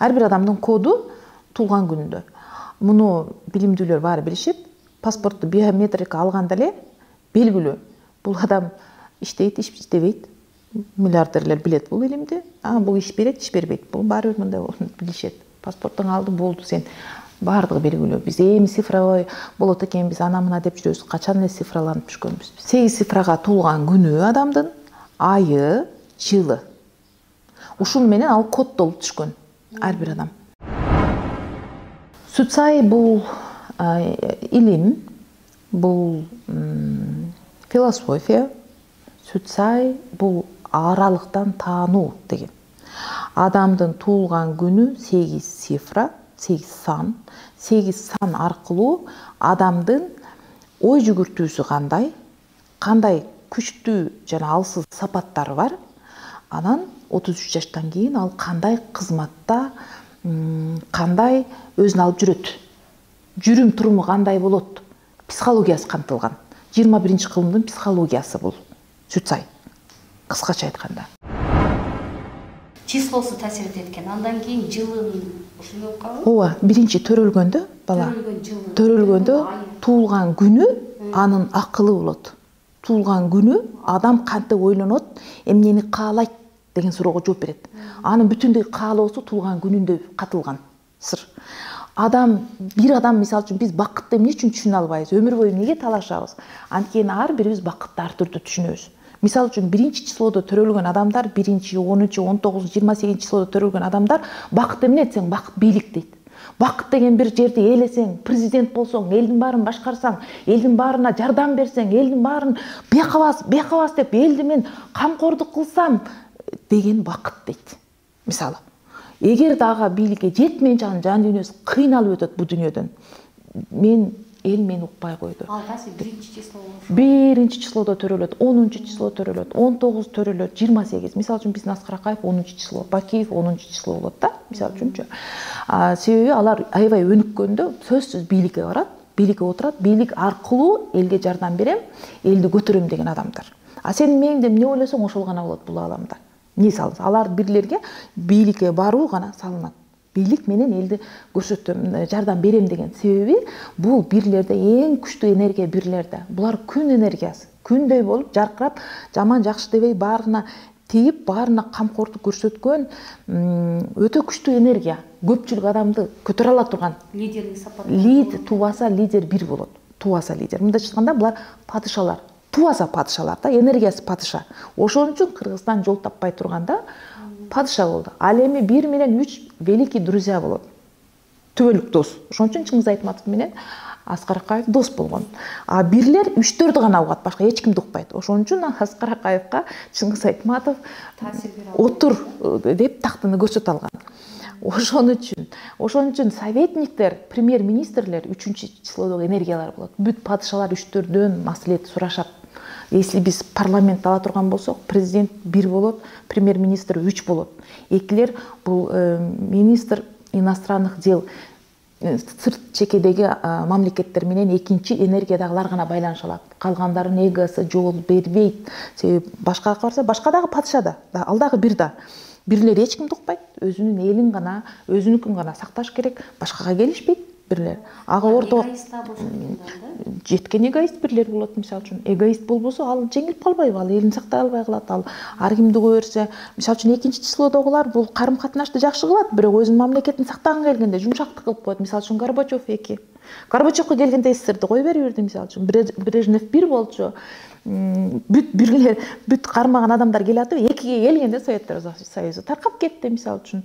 Ар бир адамдын коду туулган күнүндө. Муну билимдүүлөр баары билишет. Паспортту биометрика алганда эле белгилүү. Бул адам иштейт, иштебейт. Миллиардерлер билет бул илимди. Бул иш берет, иш бербейт. Бул баары бир мындай билишет. Паспорттун алды болду, сен баардыгы белгилүү. Биз эми цифровой болот экен, биз ана мына деп жүрөбүз. Качан эле цифраланып түшкөнбүз. 8 цифрага туулган күнү адамдын, айы, жылы. Ушун менен ал коддолуп түшкөн ар бир адам. Суцай бул илим, бул философия. Суцай бул аралыктан таануу деген. Адамдын туулган күнү 8 цифра, 8 сан. 8 сан аркылуу адамдын ой жүгүртүүсү кандай күчтүү жана алсыз сапаттары бар. Анан 33 жаштан кийин ал кандай кызматта, кандай өзүн алып жүрөт. Жүрүм туруму кандай болот? Психологиясы камтылган. 21-кылымдын психологиясы бул Суцай. Кыскача айтканда. Числосу таасир этет экен. Андан кийин жылын ушундай болуп калабы? Ооба, биринчи төрөлгөндө бала. Төрөлгөндө туулган күнү анын акылы болот. Туулган күнү адам кантип ойлонот, эмнени каалайт деген суроого жооп берет. Анын бүтүндөй каалоосу туулган күнүндө катылган сыр. Бир адам мисалы үчүн биз бакытты эмне үчүн түшүнө албайбыз? Өмүр бою эмнеге талашабыз? Анткени ар бирибиз бакытты ар түрдүү түшүнөбүз. Мисалы үчүн 1-числодо төрөлгөн адамдар, 1-10, 19, 28 числодо төрөлгөн адамдар бакыт эмне десең, бакыт бийлик дейт. Бакыт деген бир жерди ээлесең, президент болсоң, элдин баарын башкарсаң, элдин баарына жардам берсең, элдин баарын бекабас деп элди мен камкордук кылсам деген бакыт дейт. Мисалы, эгер дагы бийликке жетмейинче анын жан дүйнөсү кыйналып өтөт бул дүйнөдөн. Эл мени укпай койду. Ал кайсы 1-число болуш? 1-числодо төрөлөт, 10-число төрөлөт, 19 төрөлөт, 28. Мисалы үчүн биздин Аскар Акаев 10-число, Бакиев 10-число болот да, мисалы үчүнчү. Себеби алар аябай өнүккөндө сөзсүз бийликке барат, бийликке отурат, бийлик аркылуу элге жардам берем, элди көтөрөм деген адамдар. Сен мээңде эмне ойлосоң ошол гана болот бул ааламда. Эмне салыңыз? Алар бирлерге бийликке баруу гана салынат. Бийлик менен элди көрсөтөм, жардам берем деген себеби бул бирлерде эң күчтүү энергия бирлерде. Булар күн энергиясы. Күндөй болуп жаркырап, жаман жакшы дебей баарына тийип, баарына камкордук көрсөткөн өтө күчтүү энергия. Көпчүлүк адамды көтөрө ала турган. Лидерлик сапат. Тубаса лидер бир болот. Тубаса лидер. Мындайча айтканда булар падышалар. Тубаса падышалар да, энергиясы падыша. Ошон үчүн Кыргызстан жол таппай турганда падыша болду. Ал эми 1 менен 3 великий друзья болот. Түбөлүк дос. Ошон үчүн Чыңгыз Айтматов менен Аскар Акаев дос болгон. Бирлер 3-4 гана угат, башка эч кимди укпайт. Ошон үчүн Аскар Акаевка Чыңгыз Айтматов отур деп тактыны көрсөтө алган. Ошон үчүн советниктер, премьер-министрлер 3-числодогу энергиялар болот. Бүт падышалар 3-4дөн маслихат сурашат. Если биз парламент ала турган болсок, президент 1 болот, премьер-министр 3 болот. Экилер бул министр иностранных дел, сырт чекедеги мамлекеттер менен экинчи энергиядагылар гана байланыша алат. Калгандардын эгосы жол бербейт. Себеби башкага караса, башка дагы падыша да, ал дагы бир да. Бирлер эч кимди укпайт, өзүнүн элин гана, өзүнүкүн гана сакташ керек, башкага келишпейт бирлер. Ага орто жеткен эгоист бирлер болот, мисалы үчүн. Эгоист болбосо ал жеңилип калбайбы, ал элин сактай албай калат, ал ар кимди кое берсе, мисалы үчүн 2-числодогулар бул карым-катнашты жакшы кылат, бирок өзүнүн мамлекетин сактаган келгенде жумшактык кылып коет. Мисалы үчүн Горбачев 2. Горбачевко келгенде эстерди кой бериверди, мисалы үчүн. Брежнев 1 болчу. Бүт кармаган адамдар келатып, 2ге келгенде Советтер Союзу таркап кетти, мисалы үчүн.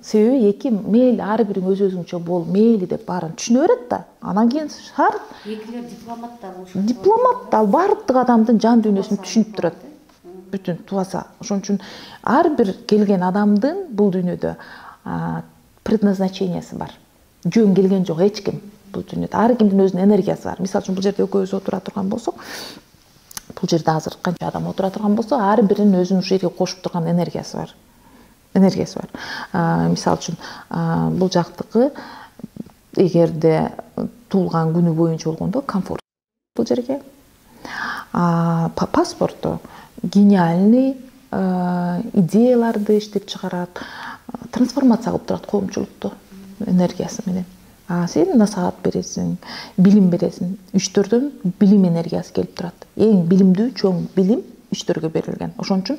Себеби 2 мейли ар бириң өзүңчө бол, мейли деп баарын түшүнө берет да. Анан кийин шаар экилер дипломат да болушат. Дипломат да баардык адамдын жан дүйнөсүн түшүнүп турат. Бүтүн тубаса. Ошон үчүн ар бир келген адамдын бул дүйнөдө предназначениясы бар. Жөн келген жок эч ким бул дүйнөдө. Ар кимдин өзүнүн энергиясы бар. Мисалы үчүн бул жерде экөөбүз отура турган болсок, бул жерде азыр канча адам отура турган болсо, ар биринин өзүнүн ушул жерге кошуп турган энергиясы бар. Мисалы үчүн бул жактыкы эгерде туулган күнү боюнча болгондо комфорт бул жерге. Паспорту гениальный идеяларды иштеп чыгарат, трансформация кылып турат коомчулукту энергиясы менен. Сен насаат бересиң, билим бересиң. Үчтөрдөн билим энергиясы келип турат. Эң билимдүү чоң билим үчтөргө берилген. Ошон үчүн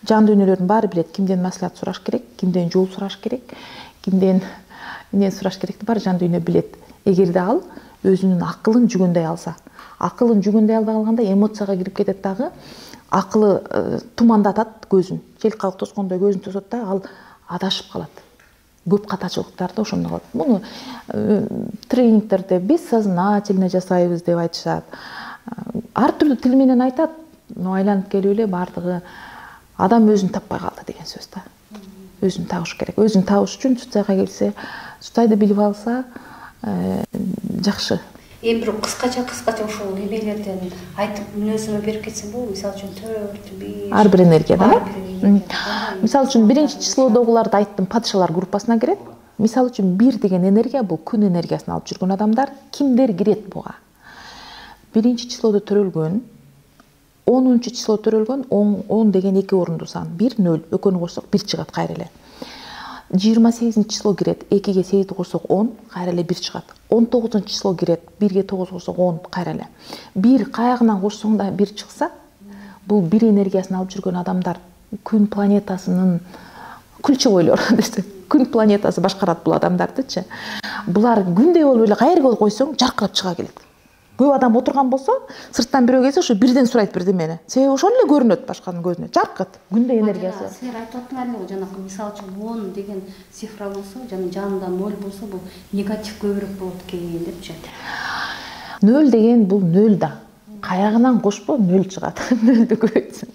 жан дүйнөлөрдүн баары билет кимден маслихат сураш керек, кимден жол сураш керек, кимден эмне сураш керекти баары жан дүйнө билет. Эгерде ал өзүнүн акылын жүгөндөй алса, акылын жүгөндөй албай калганда эмоцияга кирип кетет дагы, акылы тумандатат көзүн. Жел кабык тоскондой көзүн тосот да, ал адашып калат. Көп катачылыктарды ошондо калат. Муну тренингтерде бессознательно жасайбыз деп айтышат. Ар түрдүү тил менен айтат, но айланып келип эле баардыгы адам өзүн таппай калды деген сөз да. Өзүн табыш керек. Өзүн табыш үчүн Сутайга келсе, Сутайды билип алса жакшы. Эми бир кыскача ушул эмелерден айтып мүнөзүмө берип кетсем болобу? Мисалы үчүн 4, 5. Ар бир энергияда. Мисалы үчүн 1-числодогуларды айттым, падышалар группасына кирет. Мисалы үчүн 1 деген энергия бул күн энергиясын алып жүргөн адамдар. Кимдер кирет буга? 1-числодо төрөлгөн, 10-число төрөлгөн, 10 деген 2 орундуу сан. 1 0 экөөнү кошсок 1 чыгат кайра эле. 28-число кирет, 2-ге 8 кошсок 10, кайра эле 1 чыгат. 19-число кирет, 1-ге 9 кошсок 10, кайра эле. 1 каягынан кошсоң да 1 чыкса, бул 1 энергиясын алып жүргөн адамдар. Күн планетасынын ключевойлор десе, күн планетасы башкарат бул адамдардычы. Булар күндөй болуп эле кайерге койсоң жаркырап чыга келет. Көп адам отурган болсо, сырттан бирөө келсе, ошо бирден сурайт бирдемени. Себеби ошол эле көрүнөт башканын көзүнө. Жаркырат, күндөй энергиясы. Силер айтып атыңар эле, жанагы мисалы үчүн 10 деген цифра болсо, жана жанында 0 болсо, бул негатив көбүрөөк болот экен депчи. 0 деген бул 0 да. Каягынан кошпо 0 чыгат. 0ды көбөйтсөң.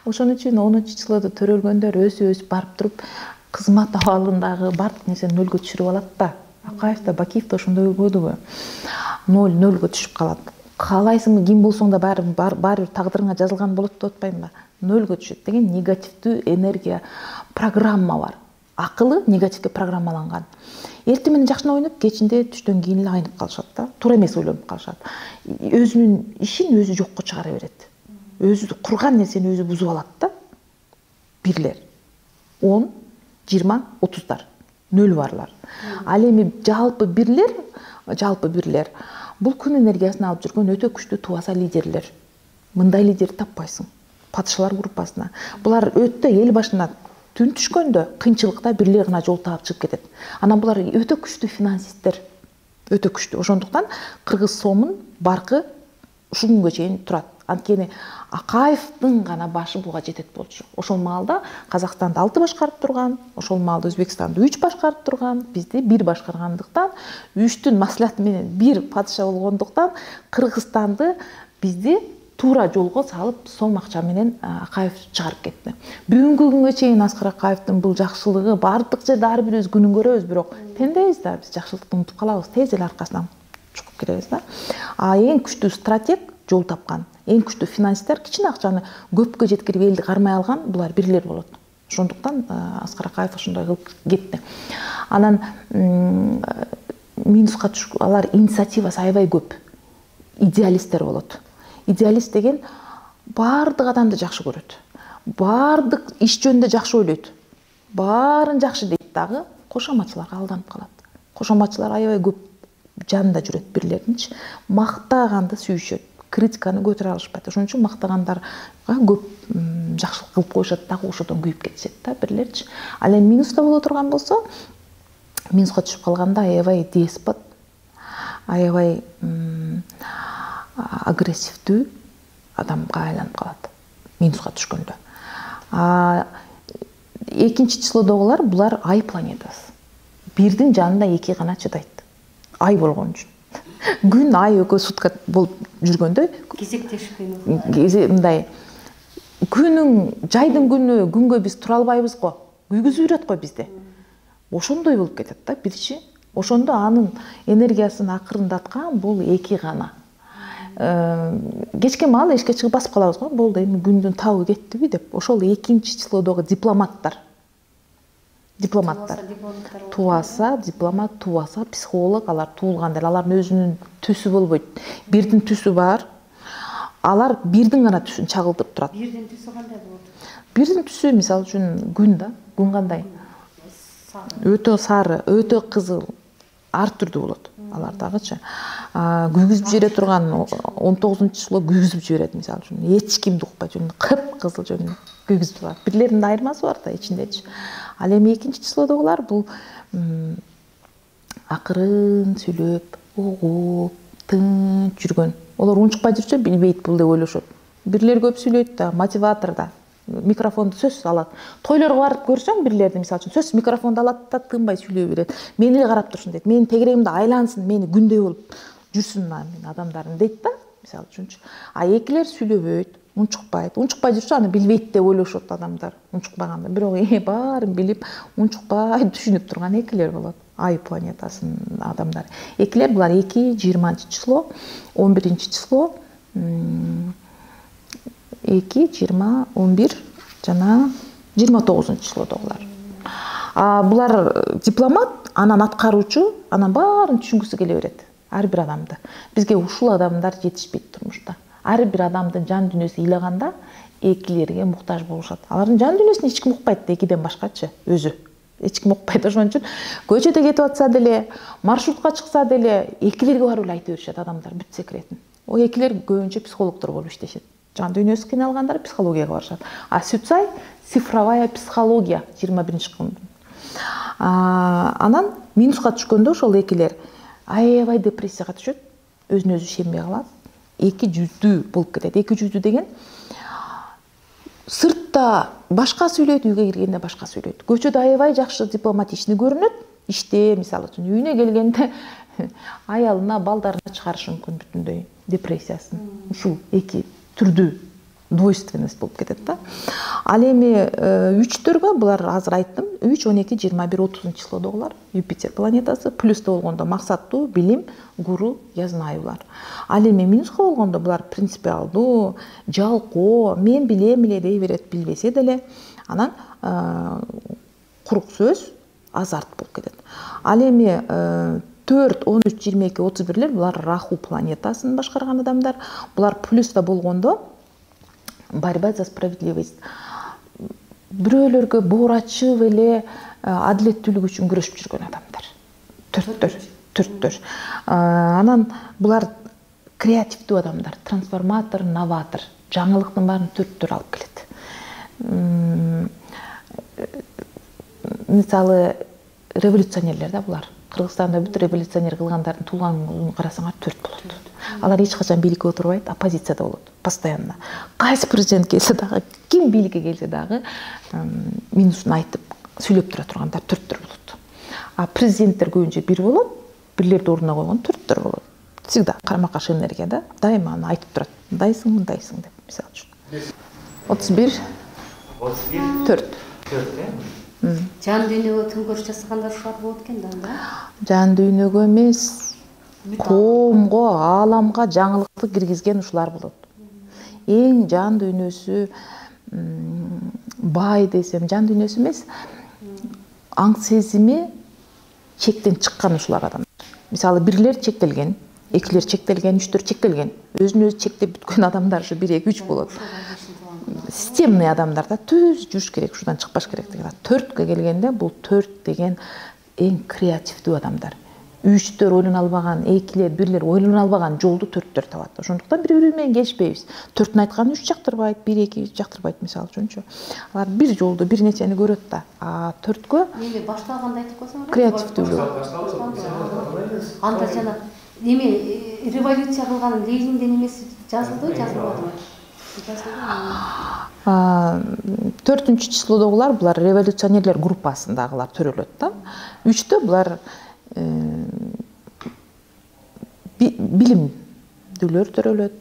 Ошон үчүн 10-числодо төрөлгөндөр өсүп барып туруп кызмат абалындагы бардык нерсени 0га түшүрүп алат да. Акаев да, Бакиев да ошондой болбодубу? 0-0га түшүп калат. Каалайсыңбы, ким болсоң да баары бир тагдырыңа жазылган болот деп атпаймынбы? 0га түшөт деген негативдүү энергия программа бар. Акылы негативге программаланган. Эртең менен жакшына ойноп, кечинде түштөн кийин эле айнып калышат да. Туура эмес ойлонуп калышат. Өзүнүн ишин өзү жокко чыгара берет. Өзү курган нерсени өзү бузуп алат да. Бирлер. 10, 20, 30-дар. 0 барлар. Ал эми жалпы бирлер бул күн энергиясын алып жүргөн өтө күчтүү туаса лидерлер. Мындай лидер таппайсың. Падышалар группасына. Булар өтө эл башына түн түшкөндө кыйынчылыкта бирлер гана жол таап чыгып кетет. Анан булар өтө күчтүү финансисттер. Өтө күчтүү. Ошондуктан кыргыз сомун баркы ушул күнгө чейин турат. Анткени Акаевдин гана башы буга жетет болчу. Ошол маалда Казакстанды 6 башкарып турган, ошол маалда Өзбекстанды 3 башкарып турган, бизди 1 башкаргандыктан, 3-түн маслихаты менен 1 падыша болгондуктан Кыргызстанды бизди туура жолго салып, сом акча менен Акаев чыгарып кетти. Бүгүнкү күнгө чейин Аскар Акаевдин бул жакшылыгы бардык жерде ар бирибиз күнүн көрөбүз, бирок пендебиз да, биз жакшылыкты унутуп калабыз, тез эле аркасынан чукуп кетебиз да. Эң күчтүү стратег жол тапкан. Эң күчтүү финансисттер кичине акчаны көпкө жеткирип элди кармай алган булар бирлер болот. Ошондуктан Аскар Акаев ошондой кылып кетти. Анан минуска алар инициативасы аябай көп. Идеалисттер болот. Идеалист деген бардык адамды жакшы көрөт. Бардык иш жөнүндө жакшы ойлойт. Баарын жакшы дейт дагы, кошоматчыларга алданып калат. Кошоматчылар аябай көп жанында жүрөт бирлердинчи. Мактаганды сүйүшөт. Критиканы көтөрө алышпайт. Ошон үчүн мактагандарга көп жакшылык кылып коюшат дагы, ошодон күйүп кетишет да бирлерчи. Ал эми минуста боло турган болсо, минуска түшүп калганда аябай деспот, аябай агрессивдүү адамга айланып калат. Минуска түшкөндө. 2-числодогулар булар ай планетасы. Бирдин жанында 2 гана чыдайт. Ай болгон үчүн. Күн, ай экөө сутка болуп жүргөндө кезектешпей мындай жайдын күнгө биз тура албайбыз го. Күйгүзүп жүрөт го бизди. Ошондой болуп кетет да бирчи. Ошондо анын энергиясын акырындаткан бул 2 гана. Кечке маал эшикке чыгып басып калабыз го. Болду, эми күндүн табы кеттиби деп. Ошол 2-числодогу дипломаттар. Туаса, дипломат, туаса, психолог, алар туулганда, алардын өзүнүн түсү болбойт. Бирдин түсү бар. Алар бирдин гана түсүн чагылдырып турат. Бирдин түсү кандай болот? Бирдин түсү, мисалы үчүн күн да, күн кандай? өтө сары, өтө кызыл, ар түрдүү болот. Алар дагычы күйгүзүп жибере турган 19-число күйгүзүп жиберет, мисалы үчүн эч кимди укпай жүрүн кыпкызыл жүрүн күйгүзүп турат. Бирлеринин айырмасы бар да ичиндечи. Ал эми 2-числодогулар бул акырын сүйлөп, угуп, тынч жүргөн. Олар унчукпай жүрсө билбейт бул деп ойлошот. Бирлер көп сүйлөйт да, мотиватор да. Микрофонду сөз алат. Тойлорго барып көрсөң бирлерди, мисалы үчүн, сөз микрофонду алат да тынбай сүйлөй берет. Мени эле карап турсун дейт. Менин тегерегимде айлансын, мени күндөй болуп жүрсүн мен адамдарым дейт да, мисалы үчүнчү. А экилер сүйлөбөйт, унчукпайт. Унчукпай жүрсө аны билбейт деп ойлошот адамдар. Унчукпаганда, бирок баарын билип, унчукпай түшүнүп турган экилер болот. Ай планетасынын адамдары. Экилер булар 2, 20-число, 11-число, 2, 20, 11 жана 29-числодогулар. Булар дипломат, анан аткаруучу, анан баарын түшүнгүсү келе берет. Ар бир адамды. Бизге ушул адамдар жетишпейт турмушта. Ар бир адамдын жан дүйнөсү ыйлаганда экилерге муктаж болушат. Алардын жан дүйнөсүн эч ким укпайт, экиден башкачы өзү. Эч ким укпайт, ошон үчүн көчөдө кетип атса деле, маршрутка чыкса деле экилерге барып эле айта беришет адамдар бүт секретин. О экилер көбүнчө психологдор болуп иштешет. Жан дүйнөсү кыйналгандар психологияга барышат. А Сүтсай цифровая психология 21-чы кылымдын. Анан минуска түшкөндө ошол экилер аябай депрессияга түшөт, өзүнө өзү ишенбей калат, эки жүздүү болуп кетет. Эки жүздүү деген сыртта башка сүйлөйт, үйгө киргенде башка сүйлөйт. Көчөдө аябай жакшы дипломатичный көрүнөт, иште, мисалы үчүн, үйүнө келгенде аялына, балдарына чыгарышы мүмкүн бүтүндөй депрессиясын. Ушул эки түрдүү двойственность болуп кетет да. Ал эми үчтөргө булар азыр айттым, 3, 12, 21, 30-числодогулар Юпитер планетасы, плюста болгондо максаттуу, билим, гуру, язнайулар. Ал эми минуска болгондо булар принципиалдуу, жалкоо, мен билем эле дей берет, билбесе деле, анан курук сөз, азарт болуп кетет. Ал эми 4, 13, 22, 31-лер булар Раху планетасын башкарган адамдар. Булар плюста болгондо борьба за справедливость. Бирөөлөргө боор ачып эле адилеттүүлүк үчүн күрөшүп жүргөн адамдар. Төрттөр. Анан булар креативдүү адамдар, трансформатор, новатор. Жаңылыктын баарын төрттөр алып келет. Мисалы, революционерлер да булар. Кыргызстанда бүт революционер кылгандардын туулганын карасаңар 4 болот. Алар эч качан бийликке отурбайт, оппозицияда болот, постоянно. Кайсы президент келсе дагы, ким бийликке келсе дагы, минусун айтып, сүйлөп тура тургандар 4 болот. А президенттер көбүнчө 1 болот, бирлерди ордуна койгон 4 болот. Всегда карама-каршы энергия да, дайыма аны айтып турат. Мындайсың деп, мисалы үчүн. 31, 4. Жан дүйнөгө төңкөрүш жасагандар ушулар болот экен да. Жан дүйнөгө эмес, коомго, ааламга жаңылыкты киргизген ушулар болот. Эң жан дүйнөсү бай десем, жан дүйнөсү эмес, аң сезими чектен чыккан ушулар адамдар. Мисалы, бирлер чектелген, экилер чектелген, үчтөр чектелген. Өзүн өзү чектеп бүткөн адамдар ушу 1, 2, 3 болот. Системный адамдар да, түз жүрүш керек, ушудан чыкпаш керек деген. 4кө келгенде бул 4 деген эң креативдүү адамдар. Үчтөр ойлоно албаган, экилер, бирлер ойлоно албаган жолду 4төр табат. Ошондуктан бири-бири менен келишпейбиз. 4түн айтканын 3 жактырбайт, 1, 2 жактырбайт, мисалы үчүнчү. Алар бир жолду, бир нерсени көрөт да. А 4кө Эми башталганда айтып койсоң, креативдүү. Анда жана эми революция кылган Лениндин эмеси жазылды, жазылбадыбы? 4-числодогулар булар революционерлер группасындагылар төрөлөт да. 3тө булар билимдүүлөр төрөлөт.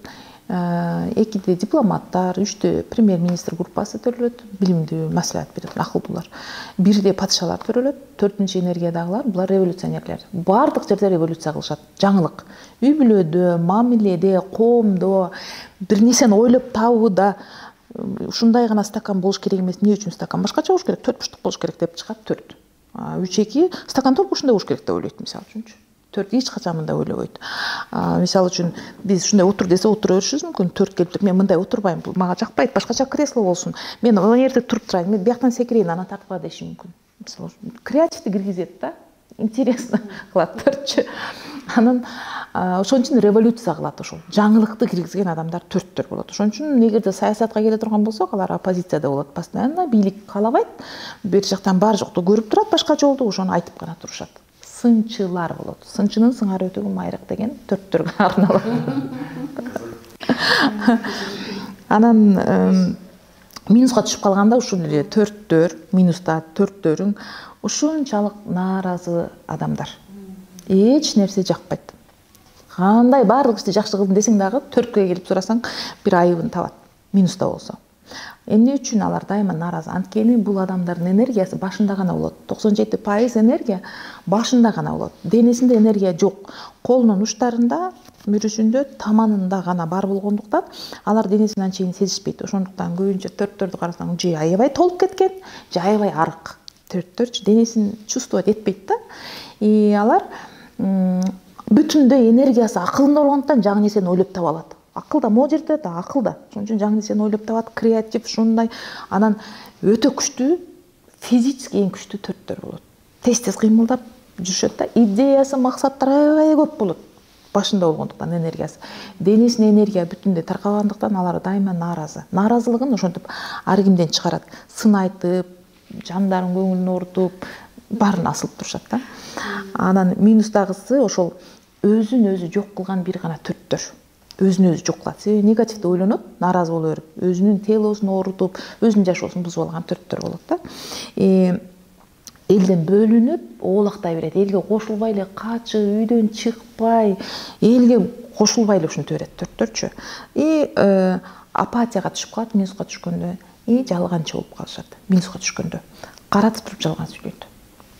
2де дипломаттар, 3тө премьер-министр группасы төрөлөт, билимдүү маслихат берет, акылдуулар. 1де падышалар төрөлөт, 4-чү энергиядагылар булар революционерлер. Бардык жерде революция кылышат, жаңылык. Үй бүлөдө, мамиледе, коомдо, бир нерсени ойлоп табууда ушундай гана стакан болуш керек эмес, эмне үчүн стакан башкача болуш керек, 4 бурчтук болуш керек деп чыгат 4. 3-2 стакан толук ушундай болуш керек деп ойлойт, мисалы үчүнчү. 4 эч качан мындай ойлобойт. Мисалы үчүн биз ушундай отур десе отура беришибиз мүмкүн, 4 келип туруп, мен мындай отурбайм, бул мага жакпайт, башкача кресло болсун. Мен ал жерде туруп турайын, мен бияктан секирейин, анан тартып ала деши мүмкүн. мисалы креативди киргизет да, интересно кылат төртчү. Анан ошон үчүн революция кылат, ошол жаңылыкты киргизген адамдар төрттөр болот. Ошон үчүн эгерде саясатка келе турган болсок, алар оппозицияда болот. Постоянно бийлик каалабайт, бер жактан бар жокту көрүп турат, башка жолду ошону айтып гана турушат. Сынчылар болот. Сынчынын сыңары өтөгү майрак деген төрттөргө арналат. Анан минуска түшүп калганда ушул эле төрттөр, минуста төрттөрүң ушунчалык нааразы адамдар. Эч нерсе жакпайт. Кандай баардык ишти жакшы кылдым десең дагы 4кө келип сурасаң бир айыбын табат. Минуста болсо. Эмне үчүн алар дайыма нааразы? Анткени бул адамдардын энергиясы башында гана болот. 97% энергия башында гана болот. Денесинде энергия жок. Колунун учтарында, мүрүшүндө, таманында гана бар болгондуктан алар денесин анчейин сезишпейт. Ошондуктан көбүнчө төрттөрдү карасаң, же аябай толуп кеткен, же аябай арык. Төрттөр денесин чувствовать этпейт да. Алар бүтүндөй энергиясы акылында болгондуктан жаңы нерсени ойлоп таба алат. Акыл да могу жерде да, акыл да. Ошон үчүн жаңы нерсени ойлоп табат, креатив ушундай. Анан өтө күчтүү, физически эң күчтүү төрттөр болот. Тез-тез кыймылдап жүрүшөт да. Идеясы, максаттары аябай көп болот. Башында болгондуктан энергиясы. Денесине энергия бүтүндөй таркагандыктан алар дайыма нааразы. Нааразылыгын ошентип ар кимден чыгарат. Сын айтып, жандардын көңүлүн оорутуп, баарын асылып турушат да. Анан минустагысы ошол өзүн өзү жок кылган бир гана төрттөр. Өзүн өзү жок кылат. Себеби негативди ойлонот, нааразы боло берип, өзүнүн телосун оорутуп, өзүнүн жашоосун бузуп алган төрттөр болот да. Элден бөлүнүп, оолактай берет. Элге кошулбай эле качып, үйдөн чыкпай, элге кошулбай эле ушинте берет төрттөрчү. Апатияга түшүп калат минуска түшкөндө, жалганчы болуп калышат. Минуска түшкөндө каратып туруп жалган сүйлөйт.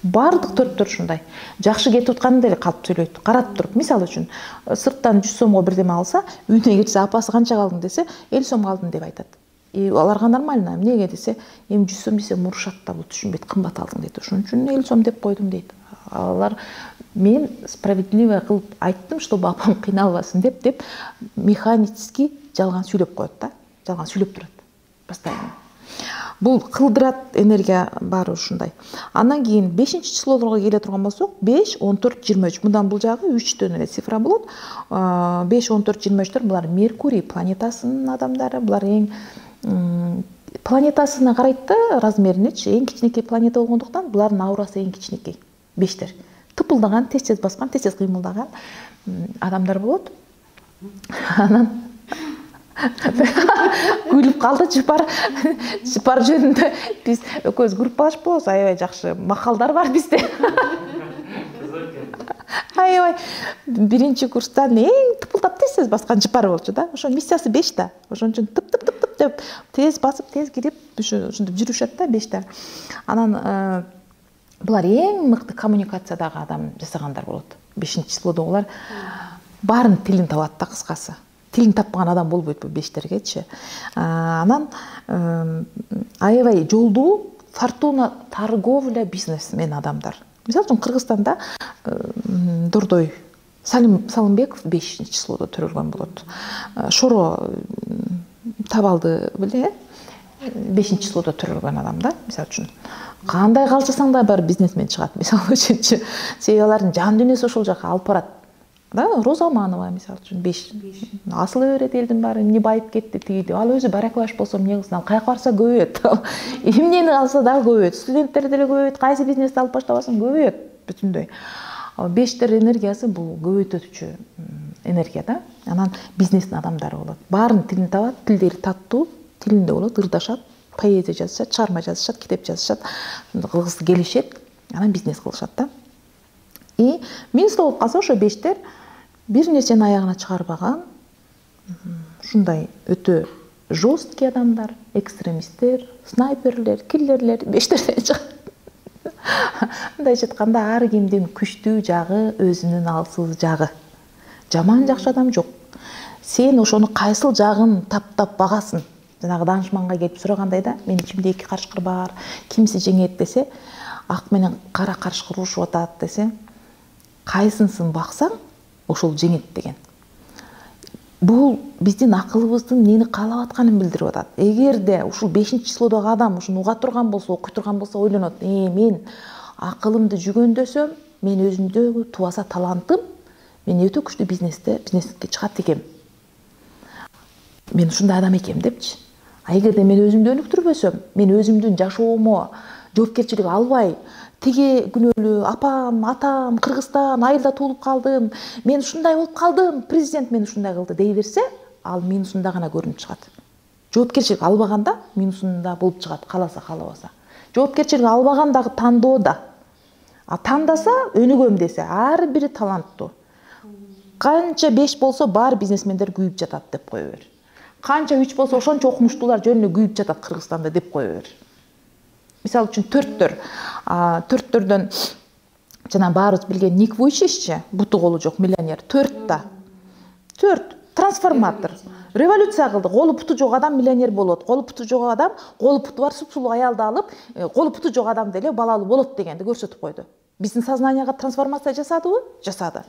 Бардык төрттөр ушундай. Жакшы кетип атканда эле калып сүйлөйт. Каратып туруп, мисалы үчүн, сырттан 100 сомго бирдеме алса, үйүнө келсе апасы канча алдың десе, 50 сом алдым деп айтат. Аларга нормально. Эмнеге десе, 100 сом десе мурушат да, бул түшүнбөйт, кымбат алдың дейт. Ошон үчүн 50 сом деп койдум дейт. Алар мен справедливо кылып айттым, чтобы апам кыйналбасын деп механически жалган сүйлөп коет да. Жалган сүйлөп турат. Постоянно. Бул кылдырат, энергия баары ушундай. Андан кийин 5-числолорго келе турган болсок, 5, 14, 23. Мындан бул жагы 3төн эле цифра болот. 5, 14, 23төр булар Меркурий планетасынын адамдары. Булар эң планетасына карайт да, размеринечи. Эң кичинекей планета болгондуктан булардын аурасы эң кичинекей. 5тер. Тыпылдаган, тез-тез баскан, тез-тез кыймылдаган адамдар болот. Анан күлүп калды жыпар жөнүндө биз экөөбүз группалашпабыз, аябай жакшы макалдар бар бизде. Аябай биринчи курстан эң тыпылдап тез баскан жыпар болчу да. Ошо миссиясы 5 да. Ошон үчүн тып деп тез басып, тез кирип, ушинтип жүрүшөт да 5 Анан булар эң мыкты коммуникациядагы адам жасагандар болот. 5-числодо булар баарын тилин табат да, кыскасы. Тилин таппаган адам болбойт бул 5тергечи. Анан аябай жолдуу, фортуна, торговля, бизнесмен адамдар. Мисалы үчүн Кыргызстанда Дордой Салымбеков 5-числодо төрөлгөн болот. Шоро Табалды беле 5-числодо төрөлгөн адам да, мисалы үчүн. Кандай калчысаң да бар бизнесмен чыгат, мисалы үчүнчү. Себеби алардын жан дүйнөсү ошол жака алып барат. Да, Роза Аманова мисалы үчүн 5. Асылы берет элдин баары, эмне байып кетти тиги. Ал өзү бараклаш болсо эмне кылсын, ал каяка барса көбөйөт. Эмнени алса да көбөйөт. Студенттер деле көбөйөт, кайсы бизнести алып баштабасын көбөйөт бүтүндөй. 5тер энергиясы бул көбөйтүүчү энергия да. Анан бизнестин адамдары болот. Баарын тилин табат, тилдери таттуу, тилинде болот, ырдашат, поэзия жазышат, чыгарма жазышат, китеп жазышат, кылгысы келишет, анан бизнес кылышат да. Минуста болуп калса ошо 5тер бир нерсени аягына чыгарбаган, ушундай өтө жесткий адамдар, экстремисттер, снайперлер, киллерлер 5терден чыгат. Мындайча айтканда ар кимдин күчтүү жагы, өзүнүн алсыз жагы. Жаман жакшы адам жок. Сен ошону кайсыл жагын таптап багасың. Жанагы данышманга келип сурагандай да, менин ичимде 2 карышкыр бар, кимси жеңет десе, ак менен кара карышкыр урушуп атат десе, кайсынысын баксаң, ошол жеңет деген. бул биздин акылыбыздын эмнени каалап атканын билдирип атат. Эгерде ушул 5-числодогу адам ушуну уга турган болсо, окуй турган болсо ойлонот, мен акылымды жүгөндөсөм, мен өзүмдөгү тубаса талантым, мен өтө күчтүү бизнеске чыгат экем. Мен ушундай адам экем депчи. А эгерде мен өзүмдү өнүктүрбөсөм, мен өзүмдүн жашоомо жоопкерчилик албай, тиги күнөөлүү апам, атам Кыргызстан айылда туулуп калдым, мен ушундай болуп калдым, президент мени ушундай кылды дей берсе, ал минусунда гана көрүнүп чыгат. Жоопкерчилик албаганда минусунда болуп чыгат, кааласа каалабаса. Жоопкерчилик албагандагы тандоодо. А тандаса, өнүгөм десе, ар бири таланттуу. Канча 5 болсо, бар бизнесмендер күйүп жатат деп кое бер. Канча 3 болсо, ошончо окумуштуулар жөнүнө күйүп жатат Кыргызстанда деп кое бер. Мисалы үчүн төрттөрдөн жана баарыбыз билген Ник Вуйчиччи, буту колу жок миллионер, 4 трансформатор. Революция кылды. Колу путу жок адам миллионер болот. Колу путу жок адам, колу путу бар супсулуу аялды алып, колу путу жок адам деле балалуу болот дегенди көрсөтүп койду. Биздин сознанияга трансформация жасадыбы? Жасады.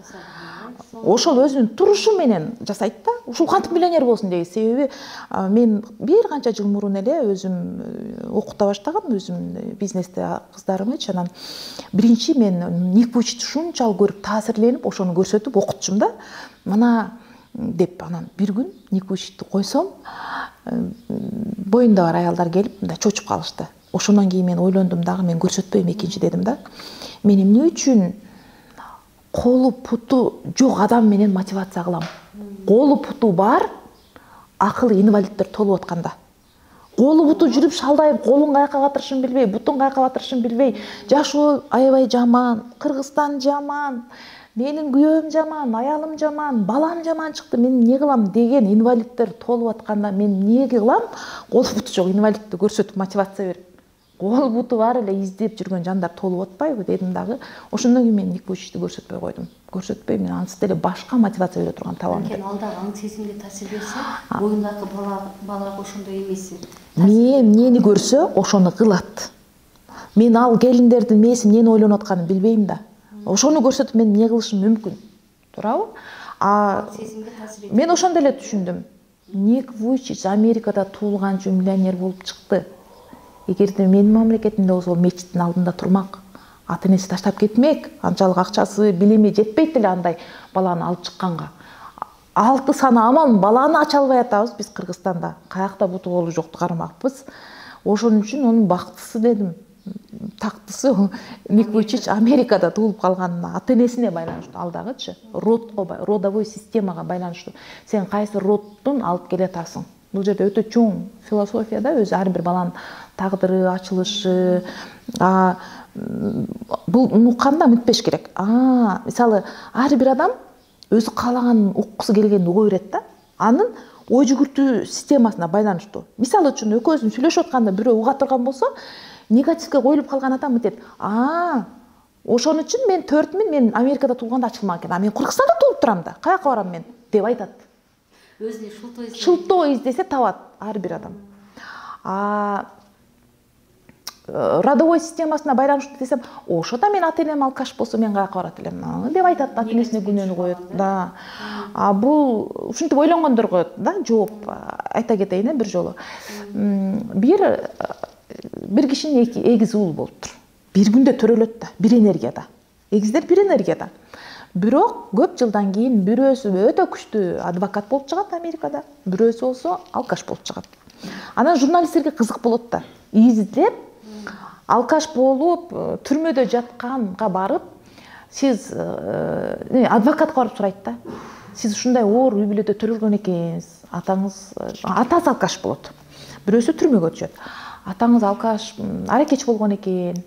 Ошол өзүнүн турушу менен жасайт да. Ушул кантип миллионер болсун дейт. Себеби мен бир канча жыл мурун эле өзүм окута баштагам, өзүм бизнесте кыздарымчы. Анан биринчи мен Ник Вуйчичти ушунчалык көрүп таасирленип, ошону көрсөтүп окутчум да. Мына деп анан бир күн Ник Вуйчичти койсом, боюнда бар аялдар келип мындай чочуп калышты. Ошондон кийин мен ойлондум дагы, мен көрсөтпөйм экинчи дедим да. Мен эмне үчүн колу путу жок адам менен мотивация кылам? Колу путу бар, акылы инвалиддер толуп атканда. Колу путу жүрүп шалдайып, колун каяка батырышын билбей, бутун каяка батырышын билбей, жашоо аябай жаман, Кыргызстан жаман, менин күйөөм жаман, аялым жаман, балам жаман чыкты, мен эмне кылам деген инвалиддер толуп атканда мен эмне кылам? Колу путу жок инвалидти көрсөтүп мотивация берип, колу путу бар эле издеп жүргөн жандар толуп атпайбы дедим дагы. Ошондон кийин мен Ник Вуйчичти көрсөтпөй койдум. Көрсөтпөй, мен ансыз деле башка мотивация бере турган табам. Анткени ал дагы аң сезимге таасир берсе, боюндагы балага ошондой эмеси. Мен эмнени көрсө, ошону кылат. Мен ал келиндердин мээси эмнени ойлонуп атканын билбейм да. Ошону көрсөтүп мен эмне кылышым мүмкүн? Туурабы? Мен ошондо эле түшүндүм. Ник Вуйчич Америкада туулганчы миллионер болуп чыкты. Эгерде менин мамлекетимде болсо, мечиттин алдында турмак, ата энеси таштап кетмек, анчалык акчасы, билими жетпейт эле андай баланы алып чыкканга. 6 саны амал баланы ача албай атабыз биз Кыргызстанда. Каякта буту колу жокту кармакпыз. Ошон үчүн онун бактысы дедим. Тактысы Ник Вуйчич Америкада туулуп калганына, ата энесине байланыштуу, ал дагычы родовой системага байланыштуу. Сен кайсы родтун алып келе атасың? Бул жерде өтө чоң философия да, өзү ар бир баланын тагдыры, ачылышы. Бул укканда үмүтпеш керек. Мисалы, ар бир адам өзү каалаганын уккусу келгенин уга берет да. Анын ой жүгүртүү системасына байланыштуу. Мисалы үчүн экөөбүз сүйлөшүп атканда бирөө уга турган болсо, негативге коюлуп калган адам мынтет. Ошон үчүн мен 4 мен Америкада туулганда ачылмак экен. Мен Кыргызстанда туулуп турам да. Каяка барам мен деп айтат. Өзүнө шылтоо издесе табат ар бир адам. Родовой системасына байланыштуу десем, ошода мен ата энем алкаш болсо мен каяка барат элем деп айтат, ата энесине күнөөнү коет. Да. Бул ушинтип ойлонгондорго да жооп айта кетейин бир жолу. Бир кишинин эгизи уул болуптур. Бир күндө төрөлөт да, бир энергияда. Эгиздер бир энергияда. Бирок көп жылдан кийин бирөөсү өтө күчтүү адвокат болуп чыгат Америкада, бирөөсү болсо алкаш болуп чыгат. Анан журналисттерге кызык болот да. Издеп, алкаш болуп, түрмөдө жатканга барып, сиз адвокатка барып сурайт да. Сиз ушундай оор үй бүлөдө төрөлгөн экенсиз, атасы алкаш болот. Бирөөсү түрмөгө түшөт. Атаңыз алкаш, аракетчи болгон экен.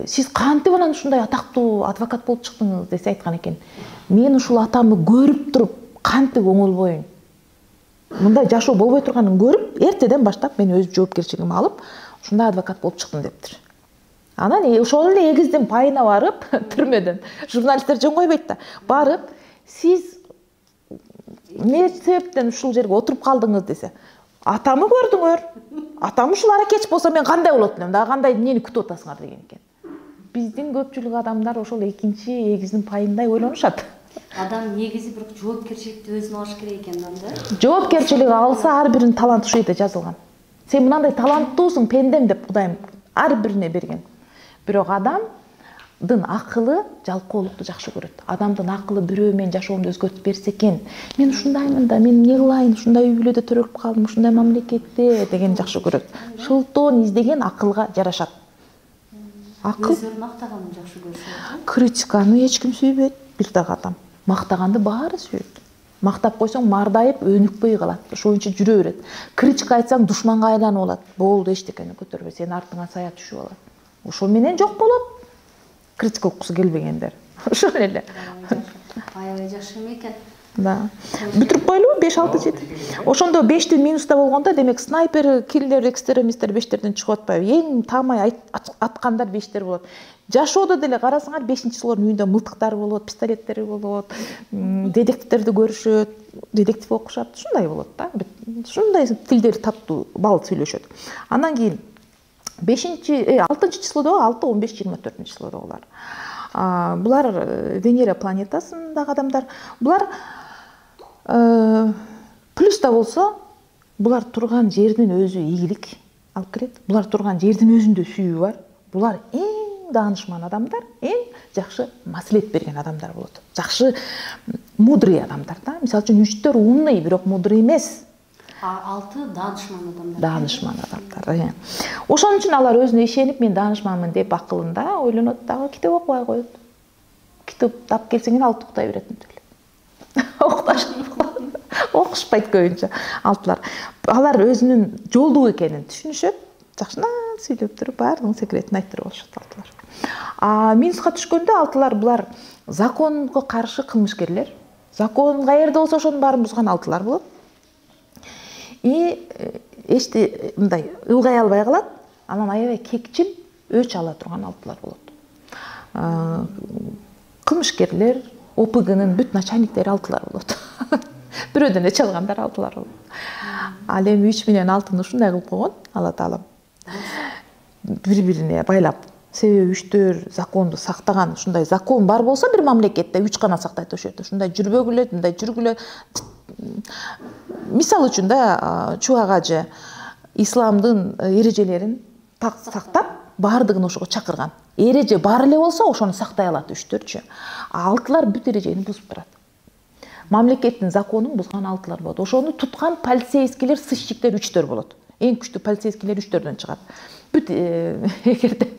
Сиз кантип анан ушундай атактуу адвокат болуп чыктыңыз десе айткан экен. Мен ушул атамды көрүп туруп, кантип оңолбойм. Мындай жашоо болбой турганын көрүп, эртеден баштап мен өз жоопкерчилигимди алып, ушундай адвокат болуп чыктым дептир. Анан ошол эле эгиздин пайына барып, түрмөдөн журналисттер жөн койбойт да. Барып, сиз эмне себептен ушул жерге отуруп калдыңыз десе, атамы көрдүңөр. Атам ушул аракетчи болсо мен кандай болот элем, дагы кандай эмнени күтүп атасыңар деген экен. Биздин көпчүлүк адамдар ошол экинчи эгиздин пайындай ойлонушат. Адам негизи бирок жоопкерчиликти өзүнө алыш керек экен да. Жоопкерчилик алса ар биринин таланты ушул жерде жазылган. Сен мынандай таланттуусуң пендем деп Кудайым ар бирине берген. Бирок адамдын акылы жалкоолукту жакшы көрөт. Адамдын акылы бирөө менин жашоомду өзгөртүп берсе экен. Мен ушундаймын да, мен эмне кылайын, ушундай үй бүлөдө төрөлүп калдым, ушундай мамлекетте деген жакшы көрөт. Шылтоон издеген акылга жарашат. Акыл Өздөрүн мактаганын жакшы көрүшөт. Критиканы эч ким сүйбөйт бир дагы адам. Мактаганды баары сүйөт. Мактап койсоң мардайып өнүкпөй калат. Ошон үчүн жүрө берет. Критика айтсаң душманга айланып алат. Болду эчтекени көтөрбө, сенин артыңа сая түшүп алат. Ошол менен жок болот. Критика уккусу келбегендер. Ошол эле. Аябай жакшы экен. Да. Бүтүрүп коелубу 5-6-7. Ошондо 5ти минуста болгондо, демек снайпер, киллер, экстремисттер 5терден чыгып атпайбы. Эң таамай аткандар 5тер болот. Жашоодо деле карасаңар 5-чилердин үйүндө мылтыктары болот, пистолеттери болот, детективтерди көрүшөт, детектив окушат, ушундай болот да. Ушундай тилдер таттуу, бал сүйлөшөт. Андан кийин 6-числодо 6-15-24-числодо булар. Булар Венера планетасындагы адамдар. Булар плюс да болсо, булар турган жердин өзү ийгилик алып келет. Булар турган жердин өзүндө сүйүү бар. Булар эң даанышман адамдар, эң жакшы маслихат берген адамдар болот. Жакшы мудрый адамдар да. Мисалы үчүн 3-төр умный, бирок мудрый эмес. 6 даанышман адамдар. Даанышман адамдар. Ошон үчүн алар өзүнө ишенип, мен даанышманмын деп акылында ойлонот дагы, китеп окубай коет. Китеп тап келсең 6 уктай берет эле. Окушпайт көбүнчө алтылар. Алар өзүнүн жолдуу экенин түшүнүшөт. Жакшынан сүйлөп туруп, баардыгын секретин айтып болушат алтылар. Минуска түшкөндө алтылар булар законго каршы кылмышкерлер. Закон каерде болсо ошонун баарын бузган алтылар болот. Эчти мындай ылгай албай калат, анан аябай кекчил өч ала турган алтылар болот. Кылмышкерлер, ОПГнын бүт начальниктери алтылар болот. Бирөөдөн эч алгандар алтылар болот. Ал эми 3 менен 6-ны ушундай кылып койгон Алла Таалам. Бири-бирине байлап. Себеби 3төр законду сактаган, ушундай закон бар болсо бир мамлекетте 3 гана сактайт ошол жерде. Ушундай жүрбөгүлө, мындай жүргүлө. Мисалы үчүн да Чубак ажы исламдын эрежелерин сактап, баардыгын ошого чакырган. Эреже бар эле болсо ошону сактай алат 3-төрчү. Алтылар бүт эрежени бузуп турат. Мамлекеттин законун бузган алтылар болот. Ошону туткан полицейскийлер, сыщиктер 3төр болот. Эң күчтүү полицейскийлер 3төрдөн чыгат. Бүт эгерде